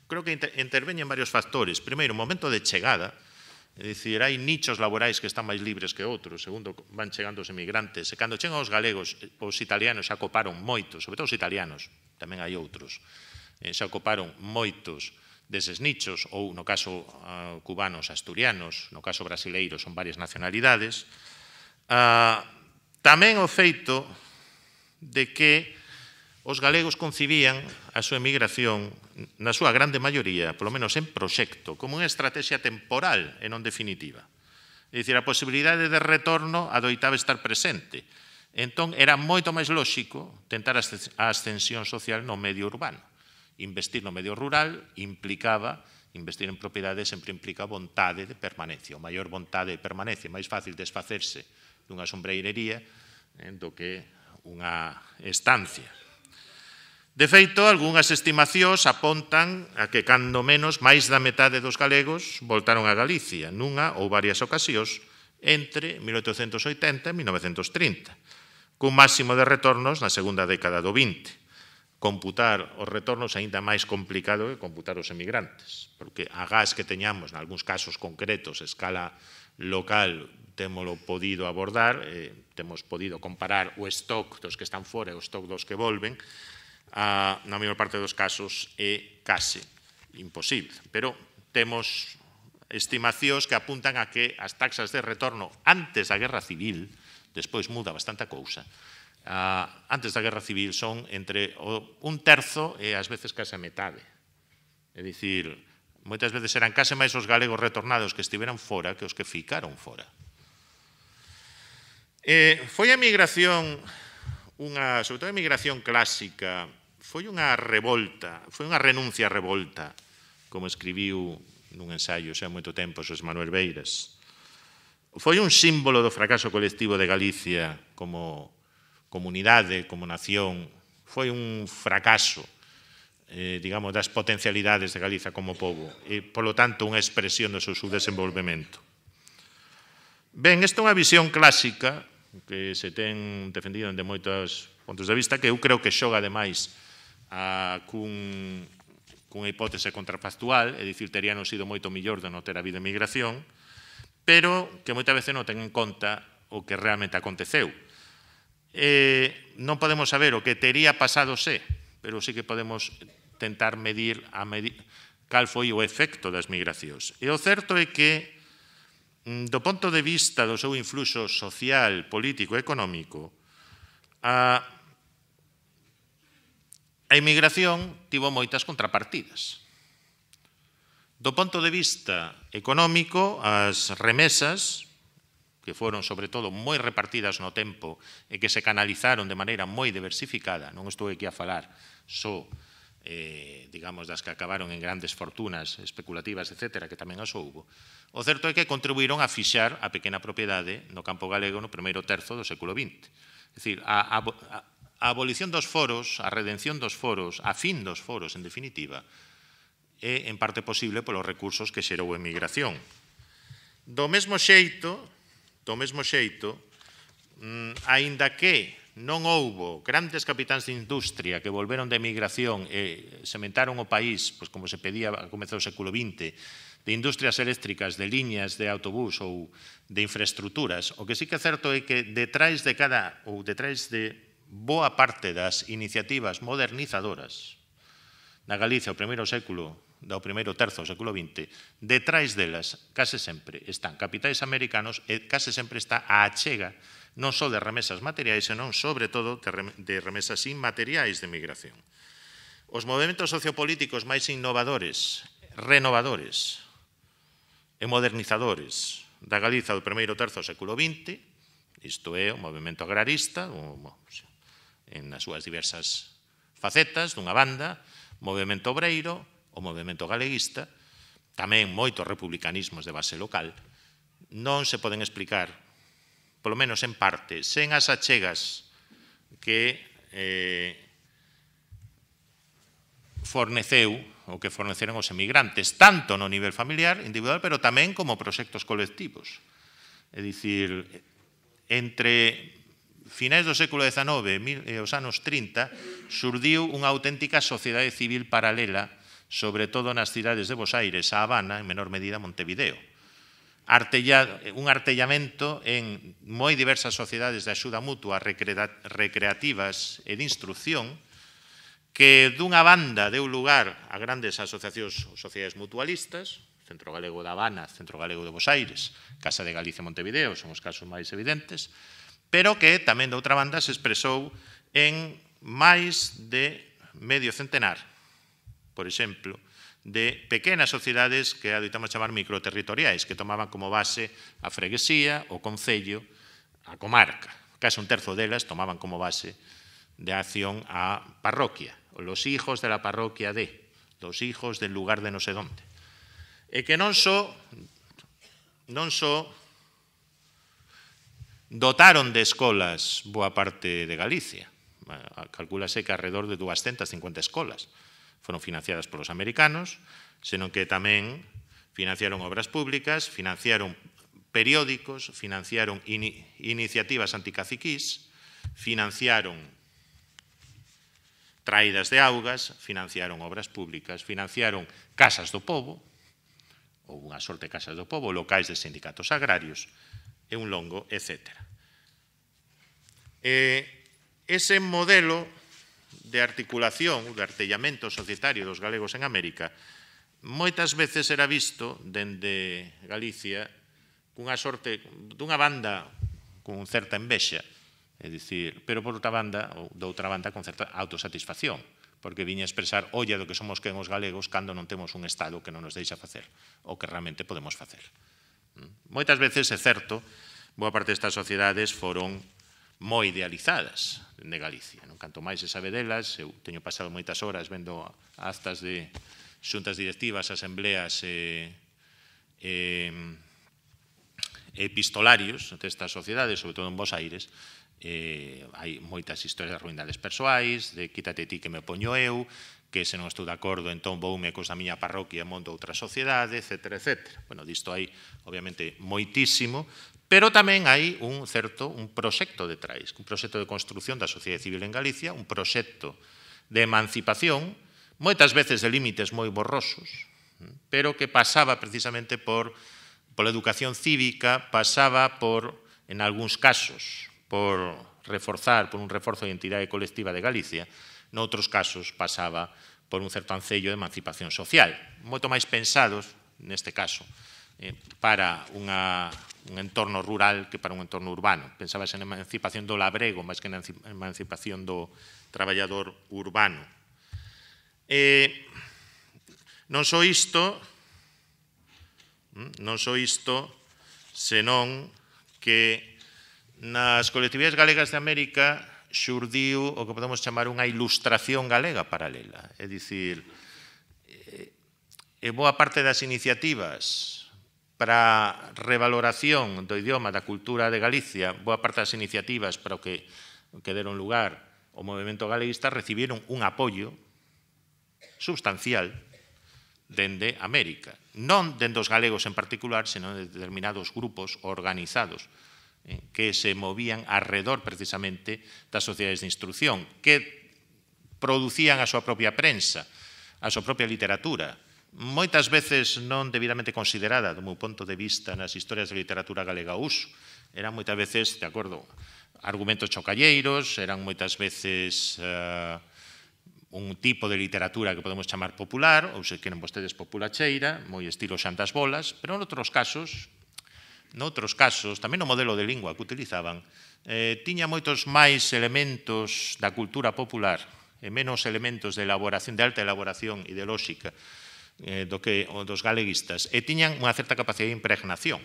creo que interveñen varios factores. Primeiro, o momento de chegada, é dicir, hai nichos laborais que están máis libres que outros, segundo van chegando os emigrantes, e cando chegan os galegos, os italianos xa coparon moitos, sobre todo os italianos, tamén hai outros, xa coparon moitos deses nichos, ou no caso uh, cubanos, asturianos, no caso brasileiros, son varias nacionalidades. Uh, tamén o feito de que os galegos concibían a súa emigración, na súa grande maioría, polo menos en proxecto, como unha estrategia temporal e non definitiva. É dicir, a posibilidade de retorno adoitaba estar presente. Entón, era moito máis lóxico tentar a ascensión social no medio urbano. Investir no medio rural implicaba, investir en propiedades sempre implica vontade de permanencia. O maior vontade de permanencia, máis fácil desfacerse dunha sombreirería eh, do que unha estancia. De feito, algunhas estimacións apontan a que, cando menos, máis da metade dos galegos voltaron a Galicia, nunha ou varias ocasións, entre mil oitocentos oitenta e mil novecentos trinta, cun máximo de retornos na segunda década do vinte. Computar os retornos aínda máis complicado que computar os emigrantes, porque a gas que teñamos, en algúns casos concretos, a escala local, témolo podido abordar, eh, temos podido comparar o stock dos que están fora e o stock dos que volven, a, na maior parte dos casos é case imposible. Pero temos estimacións que apuntan a que as taxas de retorno antes da Guerra Civil, despois muda bastante a cousa, uh, antes da Guerra Civil son entre o, un terzo e ás veces case a metade. É dicir, moitas veces eran case máis os galegos retornados que estiveran fora que os que ficaron fora. Eh, foi a migración, unha, sobre todo a migración clásica, foi unha revolta, foi unha renuncia a revolta, como escribiu nun ensaio xa moito tempo Xosé Manuel Beiras. Foi un símbolo do fracaso colectivo de Galicia como comunidade, como nación. Foi un fracaso, eh, digamos, das potencialidades de Galicia como pobo e, polo tanto, unha expresión do seu subdesenvolvemento. Ben, esta é unha visión clásica que se ten defendido de moitos puntos de vista que eu creo que xoga ademais a, cun, cunha hipótese contrafactual, é dicir, teríanos sido moito millor de non ter habido emigración, pero que moitas veces non ten en conta o que realmente aconteceu. Eh, non podemos saber o que tería pasado se, pero sí que podemos tentar medir, a medir cal foi o efecto das migracións. E o certo é que, do ponto de vista do seu influxo social, político e económico, a, a emigración tivo moitas contrapartidas. Do ponto de vista económico, as remesas, que foron sobre todo moi repartidas no tempo e que se canalizaron de maneira moi diversificada, non estou aquí a falar só, eh, digamos, das que acabaron en grandes fortunas especulativas, etcétera, que tamén as houbo. O certo é que contribuíron a fixar a pequena propiedade no campo galego no primeiro terzo do século vinte. É dicir, a, a, a abolición dos foros, a redención dos foros, a fin dos foros, en definitiva, é en parte posible polos recursos que xerou a emigración. Do mesmo xeito, do mesmo xeito, mm, aínda que non houbo grandes capitáns de industria que volveron de emigración e sementaron o país, pois como se pedía a comezar do século vinte, de industrias eléctricas, de liñas de autobús ou de infraestructuras. O que sí que é certo é que detrás de cada, ou detrás de boa parte das iniciativas modernizadoras na Galicia o primeiro século, do primeiro terzo do século vinte, detrás delas case sempre están capitais americanos e case sempre está a achega non só de remesas materiais, senón, sobre todo, de remesas inmateriais de migración. Os movimentos sociopolíticos máis innovadores, renovadores e modernizadores da Galiza do primeiro terzo do século vinte, isto é, o movimento agrarista, en as súas diversas facetas, dunha banda, o movimento obreiro, o movimento galeguista, tamén moitos republicanismos de base local, non se poden explicar, polo menos en parte, sen as achegas que eh, forneceu ou que forneceron os emigrantes, tanto no nivel familiar, individual, pero tamén como proxectos colectivos. É dicir, entre finais do século dezanove e os anos trinta, surdiu unha auténtica sociedade civil paralela, sobre todo nas cidades de Bos Aires, a Habana, en menor medida Montevideo. Artella, un artellamento en moi diversas sociedades de axuda mutua, recreativas e de instrucción, que dunha banda deu lugar a grandes asociacións ou sociedades mutualistas, Centro Galego da Habana, Centro Galego de Bos Aires, Casa de Galicia e Montevideo, son os casos máis evidentes, pero que tamén de outra banda se expresou en máis de medio centenar, por exemplo, de pequenas sociedades que adoitamos chamar microterritoriais, que tomaban como base a freguesía, o concello, a comarca. Case un terzo delas tomaban como base de acción a parroquia, los hijos de la parroquia de, los hijos del lugar de no sé dónde. E que non só, non só dotaron de escolas boa parte de Galicia, calculase que alrededor de doscientas cincuenta escolas foron financiadas polos americanos, senón que tamén financiaron obras públicas, financiaron periódicos, financiaron ini iniciativas anticaciquís, financiaron traídas de augas, financiaron obras públicas, financiaron casas do pobo, ou unha sorte de casas do pobo, locais de sindicatos agrarios, e un longo, etcétera. E ese modelo de articulación, de artellamento societario dos galegos en América, moitas veces era visto dende Galicia cunha sorte, dunha banda con certa envexa, é dicir, pero por outra banda, ou de outra banda, con certa autosatisfacción, porque viña a expresar, olla do que somos quen os galegos cando non temos un Estado que non nos deixa facer o que realmente podemos facer. Moitas veces, é certo, boa parte destas sociedades foron moi idealizadas de Galicia. Canto máis se sabe delas, eu teño pasado moitas horas vendo actas de xuntas directivas, asambleas e, e, e epistolarios destas sociedades, sobre todo en Bos Aires. Eh, hai moitas historias de ruindades persoais, de quítate ti que me poño eu, que se non estou de acordo, entón voume cos da miña parroquia e monto outra sociedade, etcétera, etcétera. Bueno, disto hai, obviamente, moitísimo, pero tamén hai un certo, un proxecto detrás, un proxecto de construción da sociedade civil en Galicia, un proxecto de emancipación, moitas veces de límites moi borrosos, pero que pasaba precisamente por pola educación cívica, pasaba por, en algúns casos, por reforzar, por un reforzo de identidade colectiva de Galicia, noutros casos pasaba por un certo ancello de emancipación social, moito máis pensados, neste caso, eh, para unha, un entorno rural que para un entorno urbano. Pensabas en emancipación do labrego, máis que en emancipación do traballador urbano. Eh, non só isto, non só isto, senón que nas colectividades galegas de América xurdiu o que podemos chamar unha ilustración galega paralela. É dicir, e boa parte das iniciativas para a revaloración do idioma da cultura de Galicia, boa parte das iniciativas para o que, que deron lugar ao movimento galeguista recibiron un apoio substancial dende América. Non dende os galegos en particular, senón de determinados grupos organizados que se movían alrededor precisamente das sociedades de instrucción, que producían a súa propia prensa, a súa propia literatura, moitas veces non debidamente considerada, do meu ponto de vista, nas historias de literatura galega ao uso. Eran moitas veces, de acordo, argumentos chocalleiros, eran moitas veces uh, un tipo de literatura que podemos chamar popular, ou se queren vostedes populacheira, moi estilo Xantas Bolas, pero en outros casos, noutros casos, tamén o modelo de lingua que utilizaban, eh, tiña moitos máis elementos da cultura popular e menos elementos de elaboración, de alta elaboración ideolóxica eh, do que o dos galeguistas, e tiñan unha certa capacidade de impregnación.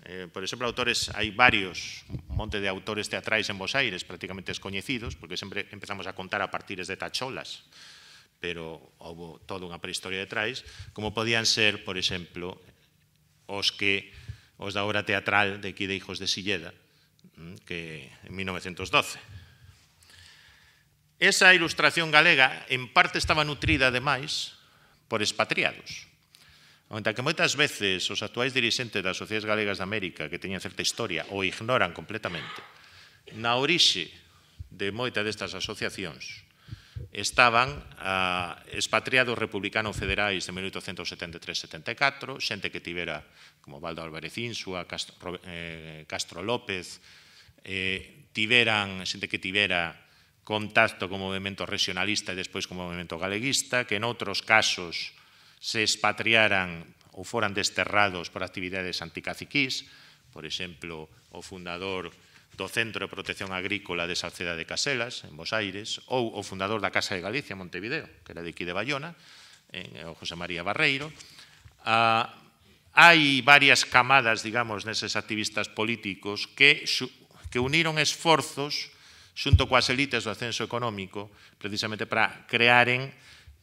Eh, por exemplo, autores, hai varios, un monte de autores teatrais en Bos Aires prácticamente descoñecidos, porque sempre empezamos a contar a partires de tacholas, pero houve toda unha prehistoria detrás, como podían ser, por exemplo, os que os da obra teatral de aquí de Hijos de Silleda, que en mil novecientos doce. Esa ilustración galega, en parte, estaba nutrida, ademais, por expatriados. Onde que moitas veces os actuais dirixentes das sociedades galegas de América, que teñen certa historia, o ignoran completamente, na orixe de moitas destas asociacións estaban uh, expatriados republicanos federais de mil oitocentos setenta e tres setenta e catro, xente que tivera, como Valdo Álvarez Insua, Castro, eh, Castro López, eh, tiveran, xente que tivera contacto co movimento regionalista e despois co movimento galeguista, que en outros casos se expatriaran ou foran desterrados por actividades anticaciquís, por exemplo, o fundador do Centro de Protección Agrícola de Salceda de Caselas, en Bos Aires, ou o fundador da Casa de Galicia, Montevideo, que era de aquí de Bayona, o José María Barreiro. Ah, hai varias camadas, digamos, neses activistas políticos que, que uniron esforzos xunto coas elites do ascenso económico precisamente para crearen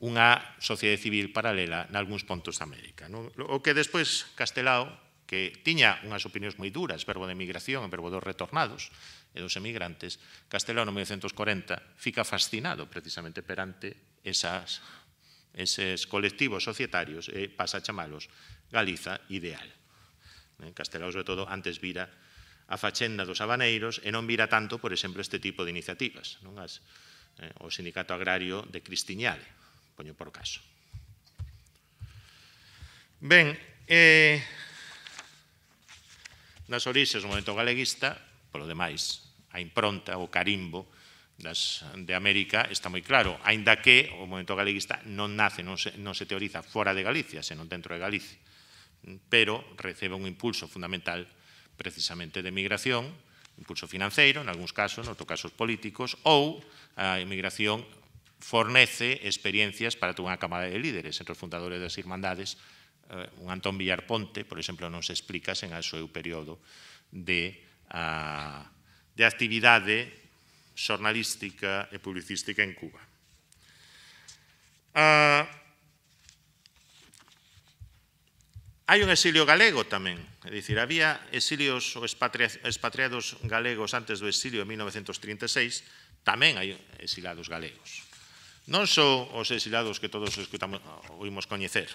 unha sociedade civil paralela nalgúns pontos da América. O que despois Castelao, que tiña unhas opinións moi duras, verbo de emigración, verbo dos retornados e dos emigrantes, Castelao no mil novecentos corenta fica fascinado precisamente perante esas, eses colectivos societarios e pasa a chamalos Galiza ideal. Castelao, sobre todo, antes vira a fachenda dos habaneiros e non vira tanto, por exemplo, este tipo de iniciativas, non? As, eh, o Sindicato Agrario de Cristiñale, poño por caso. Ben, eh, nas orixes do movimento galeguista, polo demais, a impronta, o carimbo das, de América está moi claro, aínda que o movimento galeguista non nace, non se, non se teoriza fora de Galicia, senón dentro de Galicia, pero recebe un impulso fundamental precisamente de migración, impulso financeiro, en algúns casos, en outros casos políticos, ou a emigración fornece experiencias para toda unha cámara de líderes. Entre os fundadores das Irmandades, un Antón Villar Ponte, por exemplo, non se explica sen o seu período de, a, de actividade xornalística e publicística en Cuba. A, Hai un exilio galego tamén, é dicir, había exilios ou expatriados galegos antes do exilio de mil novecentos trinta e seis, tamén hai exilados galegos. Non só os exilados que todos escutamos, oímos coñecer.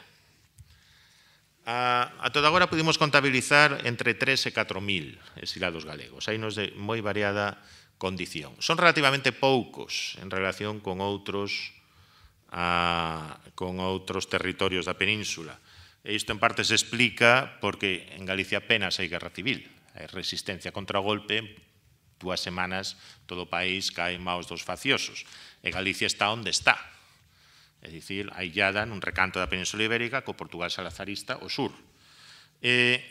A, a toda agora pudimos contabilizar entre tres e catro mil exilados galegos, hai nos de moi variada condición. Son relativamente poucos en relación con outros, a, con outros territorios da península. E isto en parte se explica porque en Galicia apenas hai guerra civil, hai resistencia contra o golpe, dúas semanas todo o país cae en maos dos faciosos, e Galicia está onde está, é dicir, aillada nun recanto da Península Ibérica co Portugal salazarista ao sur. E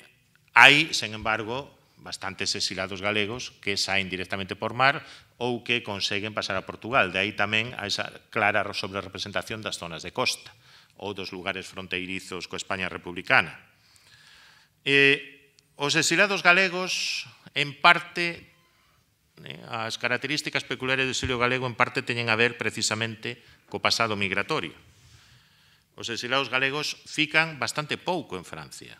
hai, sen embargo, bastantes exilados galegos que saen directamente por mar ou que conseguen pasar a Portugal, de aí tamén a esa clara sobrerepresentación das zonas de costa ou dos lugares fronteirizos coa España republicana. Eh, os exilados galegos, en parte, eh, as características peculiares do exilio galego en parte teñen a ver precisamente co pasado migratorio. Os exilados galegos fican bastante pouco en Francia.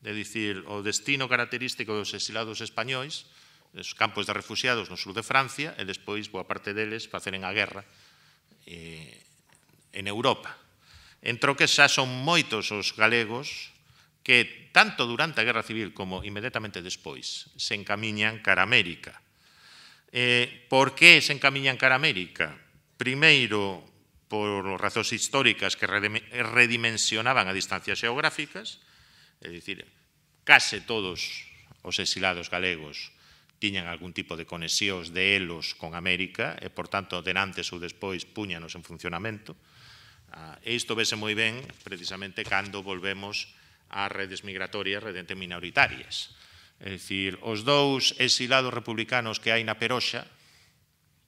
É dicir, o destino característico dos exilados españois, os campos de refugiados no sur de Francia, e despois boa parte deles faceren a guerra eh, en Europa. Entro que xa son moitos os galegos que, tanto durante a Guerra Civil como inmediatamente despois, se encamiñan cara a América. Eh, por que se encamiñan cara a América? Primeiro, por razóns históricas que redimensionaban a distancias xeográficas, é dicir, case todos os exilados galegos tiñan algún tipo de conexións de elos con América e, por tanto, de antes ou despois puñanos en funcionamento. E isto vese moi ben precisamente cando volvemos ás redes migratorias redente minoritarias. É dicir, os dous exilados republicanos que hai na Peroxa,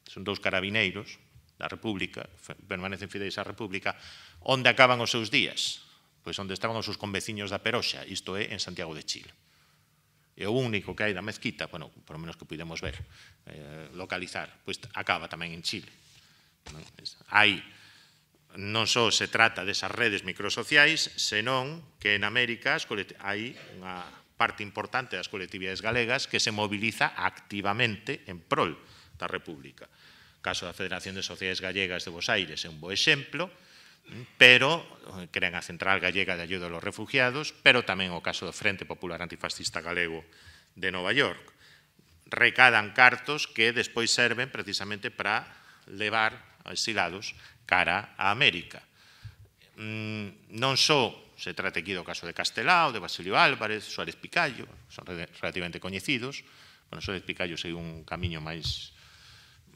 son dous carabineiros da República, permanecen fideis á República, onde acaban os seus días? Pois onde estaban os seus conveciños da Peroxa, isto é, en Santiago de Chile. E o único que hai da mezquita, bueno, por lo menos que pudemos ver, eh, localizar, pois acaba tamén en Chile. Hai non só se trata desas redes microsociais, senón que en América hai unha parte importante das colectividades galegas que se moviliza activamente en prol da República. O caso da Federación de Sociedades Gallegas de Bos Aires é un bo exemplo, pero crean a Central Gallega de Ayuda aos Refugiados, pero tamén o caso do Frente Popular Antifascista Galego de Nova York. Recadan cartos que despois serven precisamente para levar a exilados cara a América. Non só se trata aquí do caso de Castelao, de Basilio Álvarez, Suárez Picallo, son relativamente coñecidos. Bueno, Suárez Picallo segue un camiño máis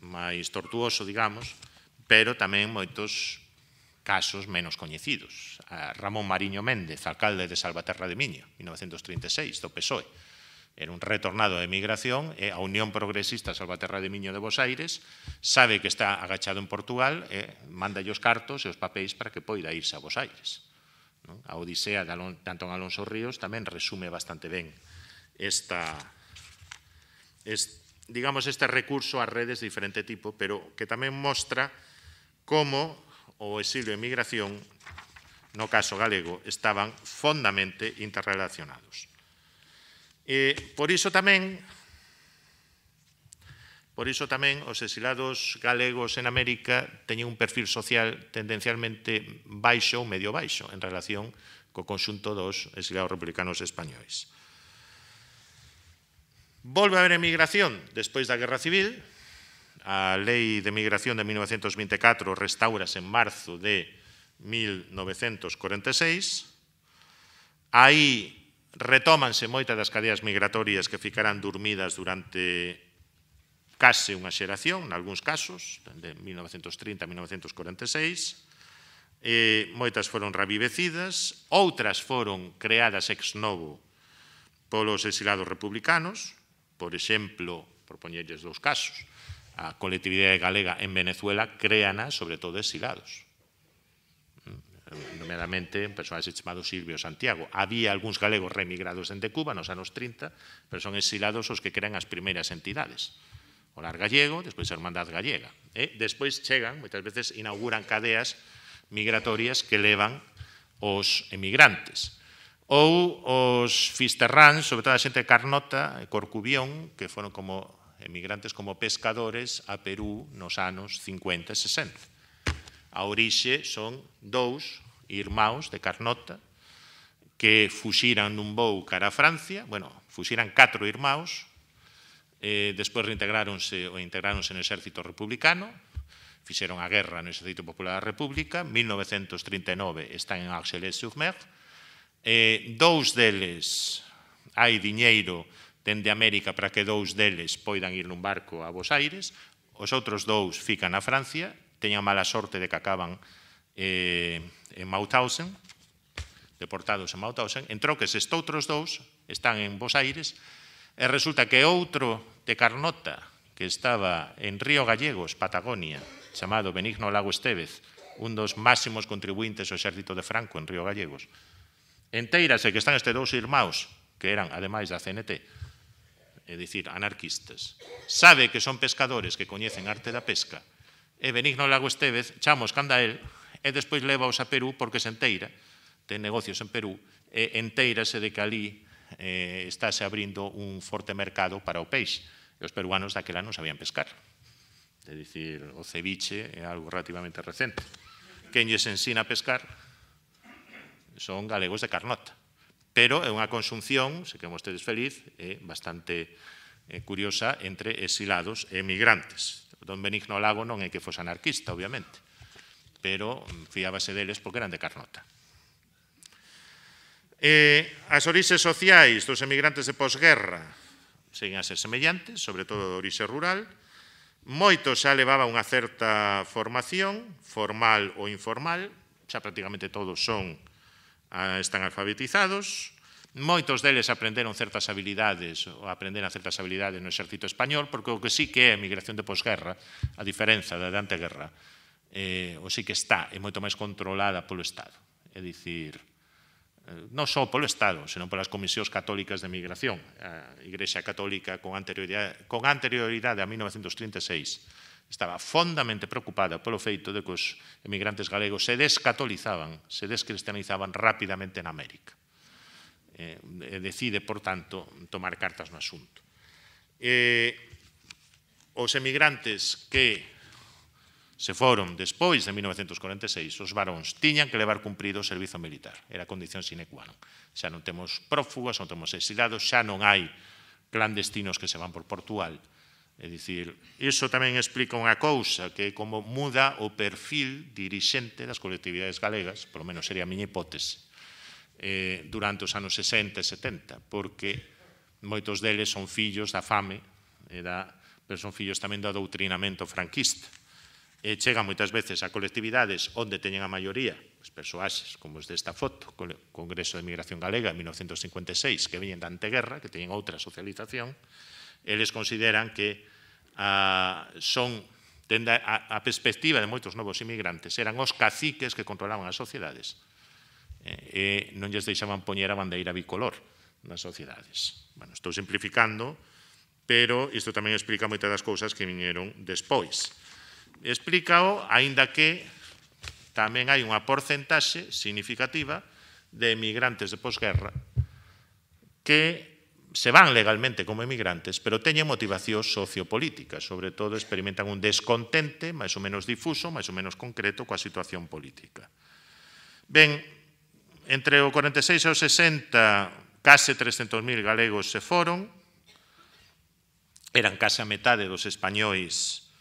máis tortuoso, digamos, pero tamén moitos casos menos coñecidos. Ramón Mariño Méndez, alcalde de Salvaterra de Miño, mil novecentos trinta e seis, do P S O E. Era un retornado de emigración e a Unión Progresista Salvaterra de Miño de Bos Aires sabe que está agachado en Portugal e manda os cartos e os papéis para que poida irse a Bos Aires. A odisea de Antón Alonso Ríos tamén resume bastante ben esta, digamos, este recurso a redes de diferente tipo, pero que tamén mostra como o exilio e emigración, no caso galego, estaban fondamente interrelacionados. E por iso tamén por iso tamén os exilados galegos en América teñen un perfil social tendencialmente baixo ou medio baixo en relación co conxunto dos exilados republicanos españois. Volve a haber emigración despois da Guerra Civil. A Lei de Migración de mil novecentos vinte e catro restaurase en marzo de mil novecentos corenta e seis. Aí retómanse moitas das cadeas migratorias que ficarán dormidas durante case unha xeración, nalgúns casos, de mil novecentos trinta a mil novecentos corenta e seis. Eh, moitas foron revivecidas, outras foron creadas ex novo polos exilados republicanos. Por exemplo, por poñerlles dous casos, a colectividade galega en Venezuela créana sobre todo exilados. Nomeadamente un personaxe chamado Silvio Santiago. Había algúns galegos reemigrados dende Cuba nos anos trinta, pero son exilados os que crean as primeiras entidades. O Lar Gallego, despois a Hermandad Gallega. E despois chegan, moitas veces inauguran cadeas migratorias que levan os emigrantes. Ou os fisterráns, sobre todo a xente de Carnota e Corcubión, que foron como emigrantes como pescadores a Perú nos anos cincuenta e sesenta. A orixe son dous irmãos de Carnota que fuxiran nun voo cara a Francia, bueno, fuxiran catro irmãos, eh, despois reintegráronse ou integráronse no exército republicano, fixeron a guerra no Exército Popular da República, mil novecentos trinta e nove están en Argelès-sur-Mer, eh, dous deles hai diñeiro dende América para que dous deles poidan ir nun barco a Buenos Aires, os outros dous fican na Francia, teñan mala sorte de que acaban eh, en Mauthausen, deportados en Mauthausen, en troques estoutros dous están en Buenos Aires, e resulta que outro de Carnota, que estaba en Río Gallegos, Patagonia, chamado Benigno Lago Estévez, un dos máximos contribuintes ao exército de Franco en Río Gallegos, enteirase que están estes dous irmãos, que eran, ademais da C N T, é dicir, anarquistas, sabe que son pescadores que coñecen arte da pesca, e Benigno Lago Estévez chamos canda el, e despois levaos a Perú porque se enteira, ten negocios en Perú, e enteirase de que ali eh, estáse abrindo un forte mercado para o peixe, e os peruanos daquela non sabían pescar. É dicir, o ceviche é algo relativamente recente. Quen lles ensina a pescar son galegos de Carnota. Pero é unha consunción, se que vostedes feliz, é bastante eh, curiosa entre exilados e emigrantes. Don Benigno Lago non é que fose anarquista, obviamente, pero fiábase deles porque eran de Carnota. Eh, as orixes sociais dos emigrantes de posguerra seguen a ser semellantes, sobre todo de orixe rural. Moitos xa levaban unha certa formación, formal ou informal, xa prácticamente todos son, están alfabetizados. Moitos deles aprenderon certas habilidades, ou aprenderon certas habilidades no exército español, porque o que sí que é a emigración de posguerra, a diferenza da de anteguerra, eh, o sí que está, é moito máis controlada polo Estado. É dicir, non só polo Estado, senón polas comisións católicas de migración. A Igrexa Católica, con anterioridade, con anterioridade a mil novecentos trinta e seis, estaba fondamente preocupada polo feito de que os emigrantes galegos se descatolizaban, se descristianizaban rapidamente en América. Eh, decide, por tanto, tomar cartas no asunto. Eh, os emigrantes que se foron despois de mil novecentos corenta e seis, os varóns tiñan que levar cumprido o servizo militar. Era a condición sine qua non. Xa non temos prófugos, non temos exilados, xa non hai clandestinos que se van por Portugal. É dicir, iso tamén explica unha cousa, que é como muda o perfil dirixente das colectividades galegas, polo menos sería a miña hipótese, eh, durante os anos sesenta e setenta, porque moitos deles son fillos da fame, e da, pero son fillos tamén do adoutrinamento franquista. E chegan moitas veces a colectividades onde teñen a maioría os persoaxes, como os desta foto, o Congreso de Migración Galega en mil novecentos cincuenta e seis, que veñen da anteguerra, que teñen outra socialización, eles consideran que a, son, tende a, a perspectiva de moitos novos inmigrantes, eran os caciques que controlaban as sociedades, e, e non lles deixaban poñer a bandeira bicolor nas sociedades. Bueno, estou simplificando, pero isto tamén explica moitas das cousas que viñeron despois. Explícao, aínda que tamén hai unha porcentaxe significativa de emigrantes de posguerra que se van legalmente como emigrantes, pero teñen motivación sociopolítica, sobre todo experimentan un descontente máis ou menos difuso, máis ou menos concreto coa situación política. Ben, entre o corenta e seis e o sesenta, case trescentos mil galegos se foron, eran case a metade dos españois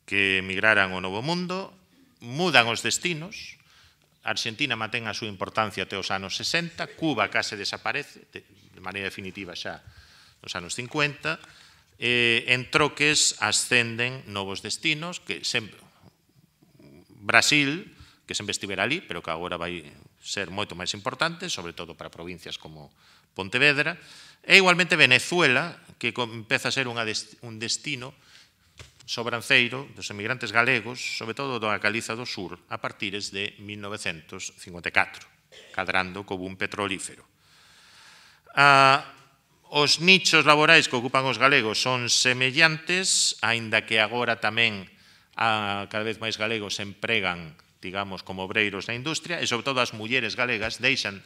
que emigraran ao Novo Mundo, mudan os destinos, Argentina mantén a súa importancia até os anos sesenta, Cuba case desaparece, de maneira definitiva xa nos anos cincuenta, eh, en troques ascenden novos destinos, que sempre, Brasil, que sempre estivera ali, pero que agora vai ser moito máis importante, sobre todo para provincias como Pontevedra, e igualmente Venezuela, que empeza a ser unha dest un destino sobranceiro dos emigrantes galegos, sobre todo da Galiza do Sur, a partires de mil novecentos cincuenta e catro, cadrando co boom petrolífero. Ah, os nichos laborais que ocupan os galegos son semellantes, aínda que agora tamén a, cada vez máis galegos se empregan, digamos, como obreiros na industria, e sobre todo as mulleres galegas deixan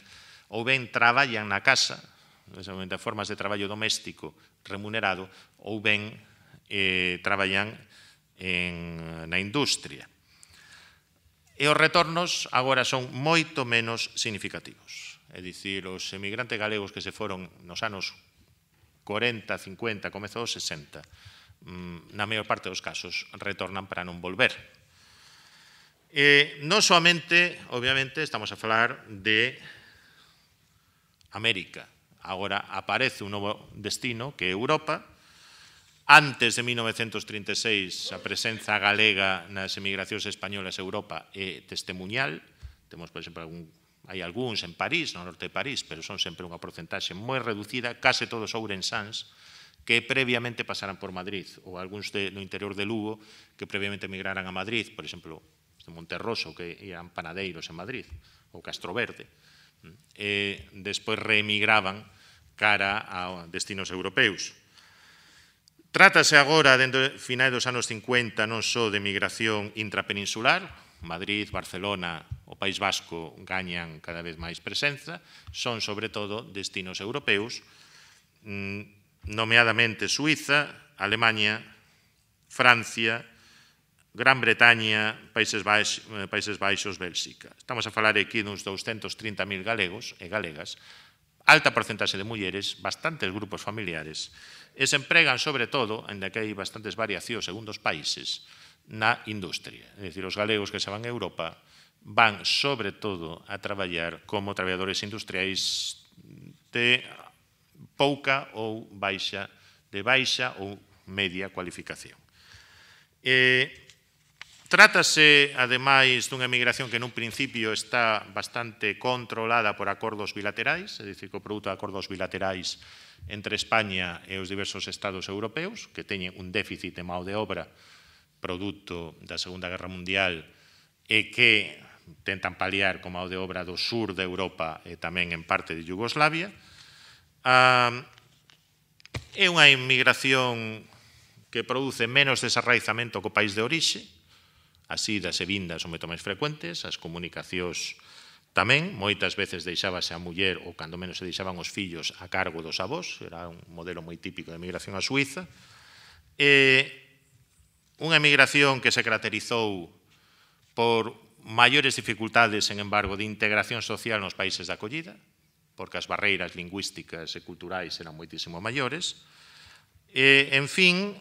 ou ben traballan na casa, de formas de traballo doméstico remunerado, ou ben eh, traballan en, na industria. E os retornos agora son moito menos significativos. É dicir, os emigrantes galegos que se foron nos anos corenta, cincuenta, comezo dos sesenta, na maior parte dos casos retornan para non volver. Eh, non soamente, obviamente, estamos a falar de América. Agora aparece un novo destino que é Europa. Antes de mil novecentos trinta e seis, a presenza galega nas emigracións españolas a Europa é testemuñal. Temos, por exemplo, algún, hai algúns en París, no norte de París, pero son sempre unha porcentaxe moi reducida, case todos ourensáns, que previamente pasaran por Madrid, ou algúns de, no interior de Lugo, que previamente emigraran a Madrid, por exemplo, de Monterroso, que eran panadeiros en Madrid, ou Castroverde, e despois reemigraban cara a destinos europeus. Trátase agora, dentro de finais dos anos cincuenta, non só de migración intrapeninsular, Madrid, Barcelona, o País Vasco gañan cada vez máis presenza, son sobre todo destinos europeus, nomeadamente Suiza, Alemania, Francia, Gran Bretaña, Países Baixos, Países Baixos, Bélxica. Estamos a falar aquí duns doscientos trinta mil galegos e galegas, alta porcentaxe de mulleres, bastantes grupos familiares, e se empregan sobre todo, ainda que hai bastantes variacións segundo os países, na industria. É dicir, os galegos que se van a Europa van sobre todo a traballar como traballadores industriais de pouca ou baixa, de baixa ou media cualificación. Eh, Trátase, ademais, dunha emigración que nun principio está bastante controlada por acordos bilaterais, é dicir, que o produto de acordos bilaterais entre España e os diversos estados europeus, que teñen un déficit de mão de obra produto da Segunda Guerra Mundial e que tentan paliar con mão de obra do sur de Europa e tamén en parte de Yugoslavia. É unha emigración que produce menos desarraizamento co país de orixe, as idas e vindas son moito máis frecuentes, as comunicacións tamén, moitas veces deixábase a muller ou cando menos se deixaban os fillos a cargo dos avós, era un modelo moi típico de emigración a Suiza, e unha emigración que se caracterizou por maiores dificultades, sen embargo, de integración social nos países de acollida, porque as barreiras lingüísticas e culturais eran moitísimo maiores, e, en fin,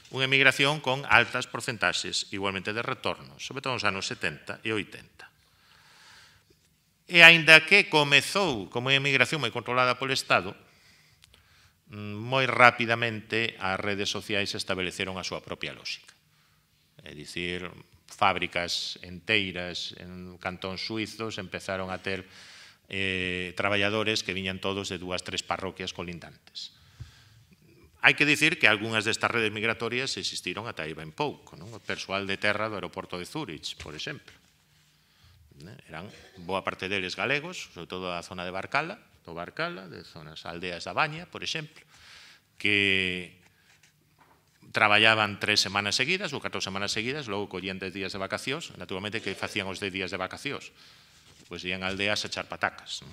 unha emigración con altas porcentaxes igualmente de retornos, sobre todo nos anos setenta e oitenta. E aínda que comezou como unha emigración moi controlada polo Estado, moi rapidamente as redes sociais estableceron a súa propia lógica. É dicir, fábricas enteiras en cantóns suizos empezaron a ter eh, traballadores que viñan todos de dúas, tres parroquias colindantes. Hai que dicir que algunhas destas redes migratorias existiron ata aí ben pouco. Non? O persoal de terra do aeroporto de Zúrich, por exemplo. Eran boa parte deles galegos, sobre todo da zona de Barcala, do Barcala, de zonas aldeas da Baña, por exemplo, que traballaban tres semanas seguidas ou catro semanas seguidas, logo collían dez días de vacacións, naturalmente que facían os dez días de vacacións? Pois ian a aldeas a echar patacas. Non?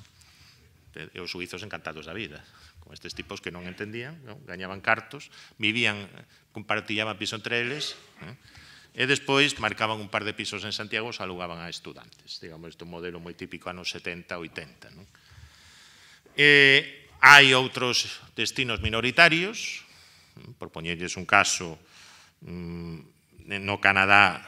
E os suizos encantados da vida, con estes tipos que non entendían, non? Gañaban cartos, vivían, compartillaban piso entre eles, non? E despois marcaban un par de pisos en Santiago e alugaban a estudantes. Digamos, este modelo moi típico anos setenta, oitenta. Non? E hai outros destinos minoritarios, por poñerlles un caso, no Canadá,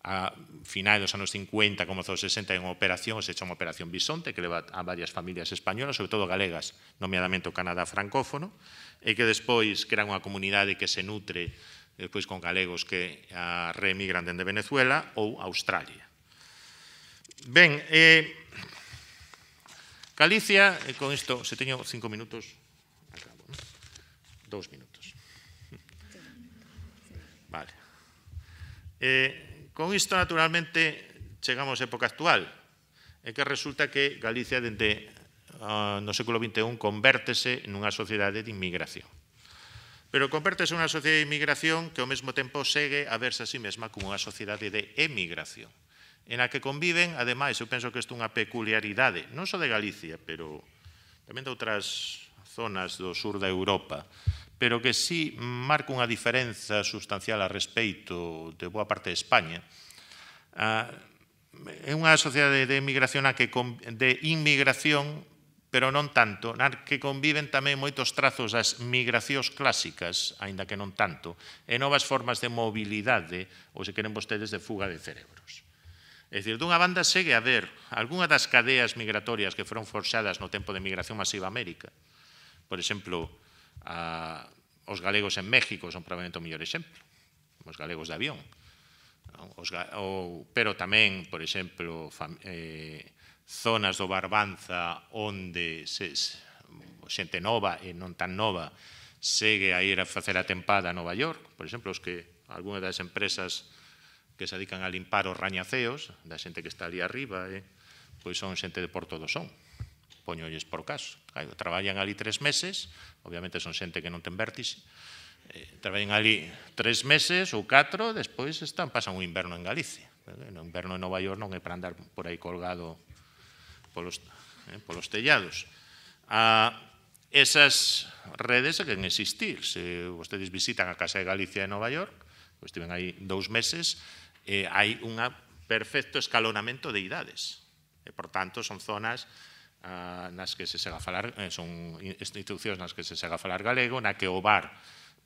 a finais dos anos cincuenta, comezou os sesenta, en unha operación, se chama Operación Bisonte, que leva a varias familias españolas, sobre todo galegas, nomeadamente o Canadá francófono, e que despois crea unha comunidade que se nutre despois con galegos que reemigran dende Venezuela ou Australia. Ben, eh, Galicia, e con isto, se teño cinco minutos, acabo, ¿no? Dous minutos. Vale. Eh, Con isto, naturalmente, chegamos á época actual, é que resulta que Galicia, dende uh, no século vinte e un, convértese nunha sociedade de inmigración. Pero convértese nunha sociedade de inmigración que ao mesmo tempo segue a verse a sí mesma como unha sociedade de emigración, en a que conviven, ademais, eu penso que isto é unha peculiaridade, non só de Galicia, pero tamén de outras zonas do sur da Europa, pero que sí marca unha diferenza sustancial a respeito de boa parte de España. É unha sociedade de emigración a que de inmigración, pero non tanto, na que conviven tamén moitos trazos das migracións clásicas, aínda que non tanto, e novas formas de mobilidade, ou se queren vostedes, de fuga de cerebros. É dicir, dunha banda segue a ver algunha das cadeas migratorias que foron forxadas no tempo de migración masiva a América. Por exemplo, a, os galegos en México son probablemente o mellor exemplo, os galegos de avión, os, o, pero tamén, por exemplo, fam, eh, zonas do Barbanza onde se, xente nova e non tan nova segue a ir a facer a tempada a Nova York, por exemplo, os que algunhas das empresas que se dedican a limpar os rañaceos da xente que está ali arriba, eh, pois son xente de Porto do Son, poñolles por caso. Claro, traballan ali tres meses, obviamente son xente que non ten vértixe, eh, traballan ali tres meses ou catro, despois están, pasan un inverno en Galicia. O inverno en Nova York non é para andar por aí colgado polos, eh, polos tellados. Ah, esas redes deben existir. Se vostedes visitan a Casa de Galicia de Nova York, pois estiven aí dous meses, eh, hai un perfecto escalonamento de idades. E, por tanto, son zonas Uh, nas que se sega a falar, eh, son institucións nas que se sega a falar galego, na que o bar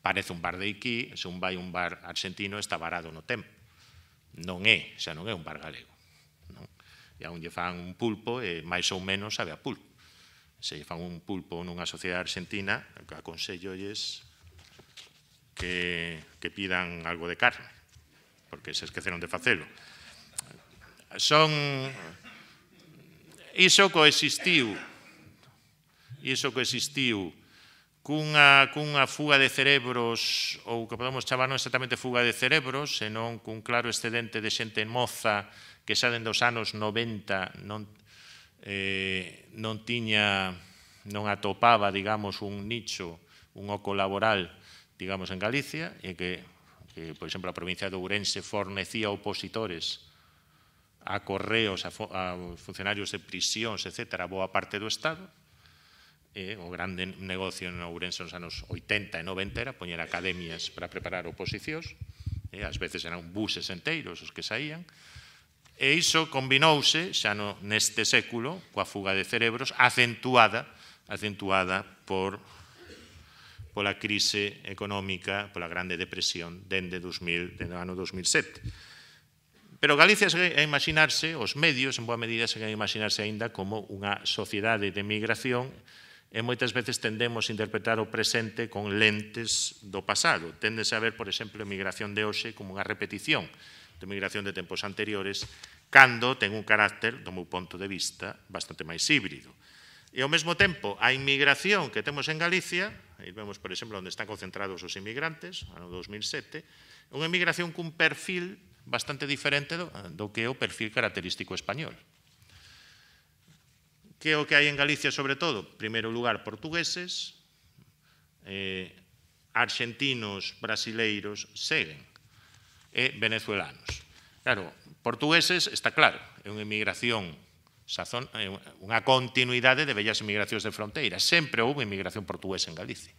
parece un bar de Iki, se un vai un bar argentino está varado no tempo. Non é, xa non é un bar galego. Non? E aún lle fan un pulpo e máis ou menos sabe a pulpo. Se lle fan un pulpo nunha sociedade argentina, aconsellolles que, que pidan algo de carne, porque se esqueceron de facelo. Son... Iso coexistiu, iso coexistiu cunha, cunha fuga de cerebros, ou que podemos chamar non exactamente fuga de cerebros, senón cun claro excedente de xente moza que xa dende os anos noventa non, eh, non tiña, non atopaba, digamos, un nicho, un oco laboral, digamos, en Galicia, e que, que por exemplo, a provincia de Ourense fornecía opositores a correos, a, a funcionarios de prisións, etcétera, boa parte do Estado. E o grande negocio en Ourense nos anos oitenta e noventa era poñer academias para preparar oposicións, e ás veces eran buses enteiros os que saían, e iso combinouse xa no, neste século coa fuga de cerebros acentuada, acentuada por pola crise económica, pola grande depresión dende, dos mil, dende o ano dos mil sete. Pero Galicia segue a imaginarse, os medios, en boa medida, segue a imaginarse aínda como unha sociedade de migración e moitas veces tendemos a interpretar o presente con lentes do pasado. Téndese a ver, por exemplo, a migración de hoxe como unha repetición de migración de tempos anteriores, cando ten un carácter, do meu ponto de vista, bastante máis híbrido. E ao mesmo tempo, a inmigración que temos en Galicia, aí vemos, por exemplo, onde están concentrados os inmigrantes, ano dos mil sete, é unha inmigración cun perfil bastante diferente do, do que é o perfil característico español. Que é o que hai en Galicia, sobre todo? En primeiro lugar, portugueses, eh, argentinos, brasileiros, seguen, e venezuelanos. Claro, portugueses, está claro, é unha inmigración, sazón, é unha continuidade de vellas inmigracións de fronteira. Sempre houve inmigración portuguesa en Galicia.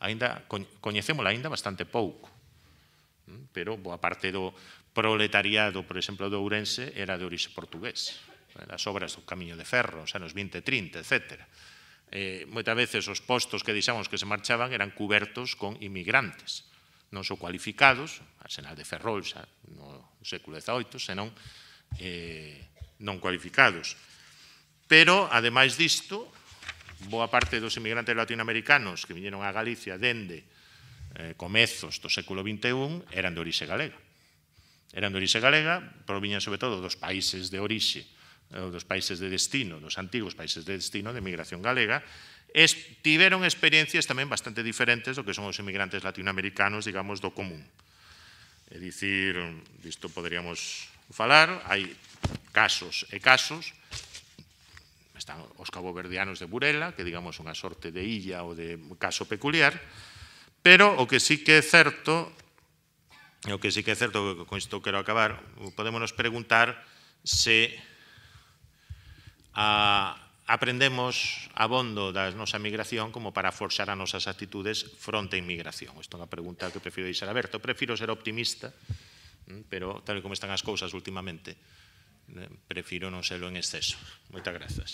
Ainda, coñecémola ainda bastante pouco, pero boa parte do proletariado, por exemplo, de Ourense era de orixe portugués, as obras do Camiño de Ferro, os anos vinte e trinta, etcétera. eh, moitas veces os postos que deixamos que se marchaban eran cubertos con inmigrantes, non só cualificados, Arsenal de Ferrol xa no século dezaoito, senón eh, non cualificados. Pero, ademais disto, boa parte dos inmigrantes latinoamericanos que viñeron a Galicia dende eh, comezos do século vinte e un eran de orixe galega. Eran de orixe galega, proviñan sobre todo dos países de orixe, dos países de destino, dos antigos países de destino de migración galega, es, tiveron experiencias tamén bastante diferentes do que son os inmigrantes latinoamericanos, digamos, do común. É dicir, disto poderíamos falar, hai casos e casos, están os caboverdianos de Burela, que digamos unha sorte de illa ou de caso peculiar, pero o que sí que é certo, o que sí que é certo, con isto quero acabar, podémonos preguntar se a, aprendemos abondo da nosa migración como para forxar as nosas actitudes fronte á inmigración. Isto é unha pregunta que prefiro deixar aberta. Eu prefiro ser optimista, pero tal como están as cousas últimamente, prefiro non serlo en exceso. Moitas grazas.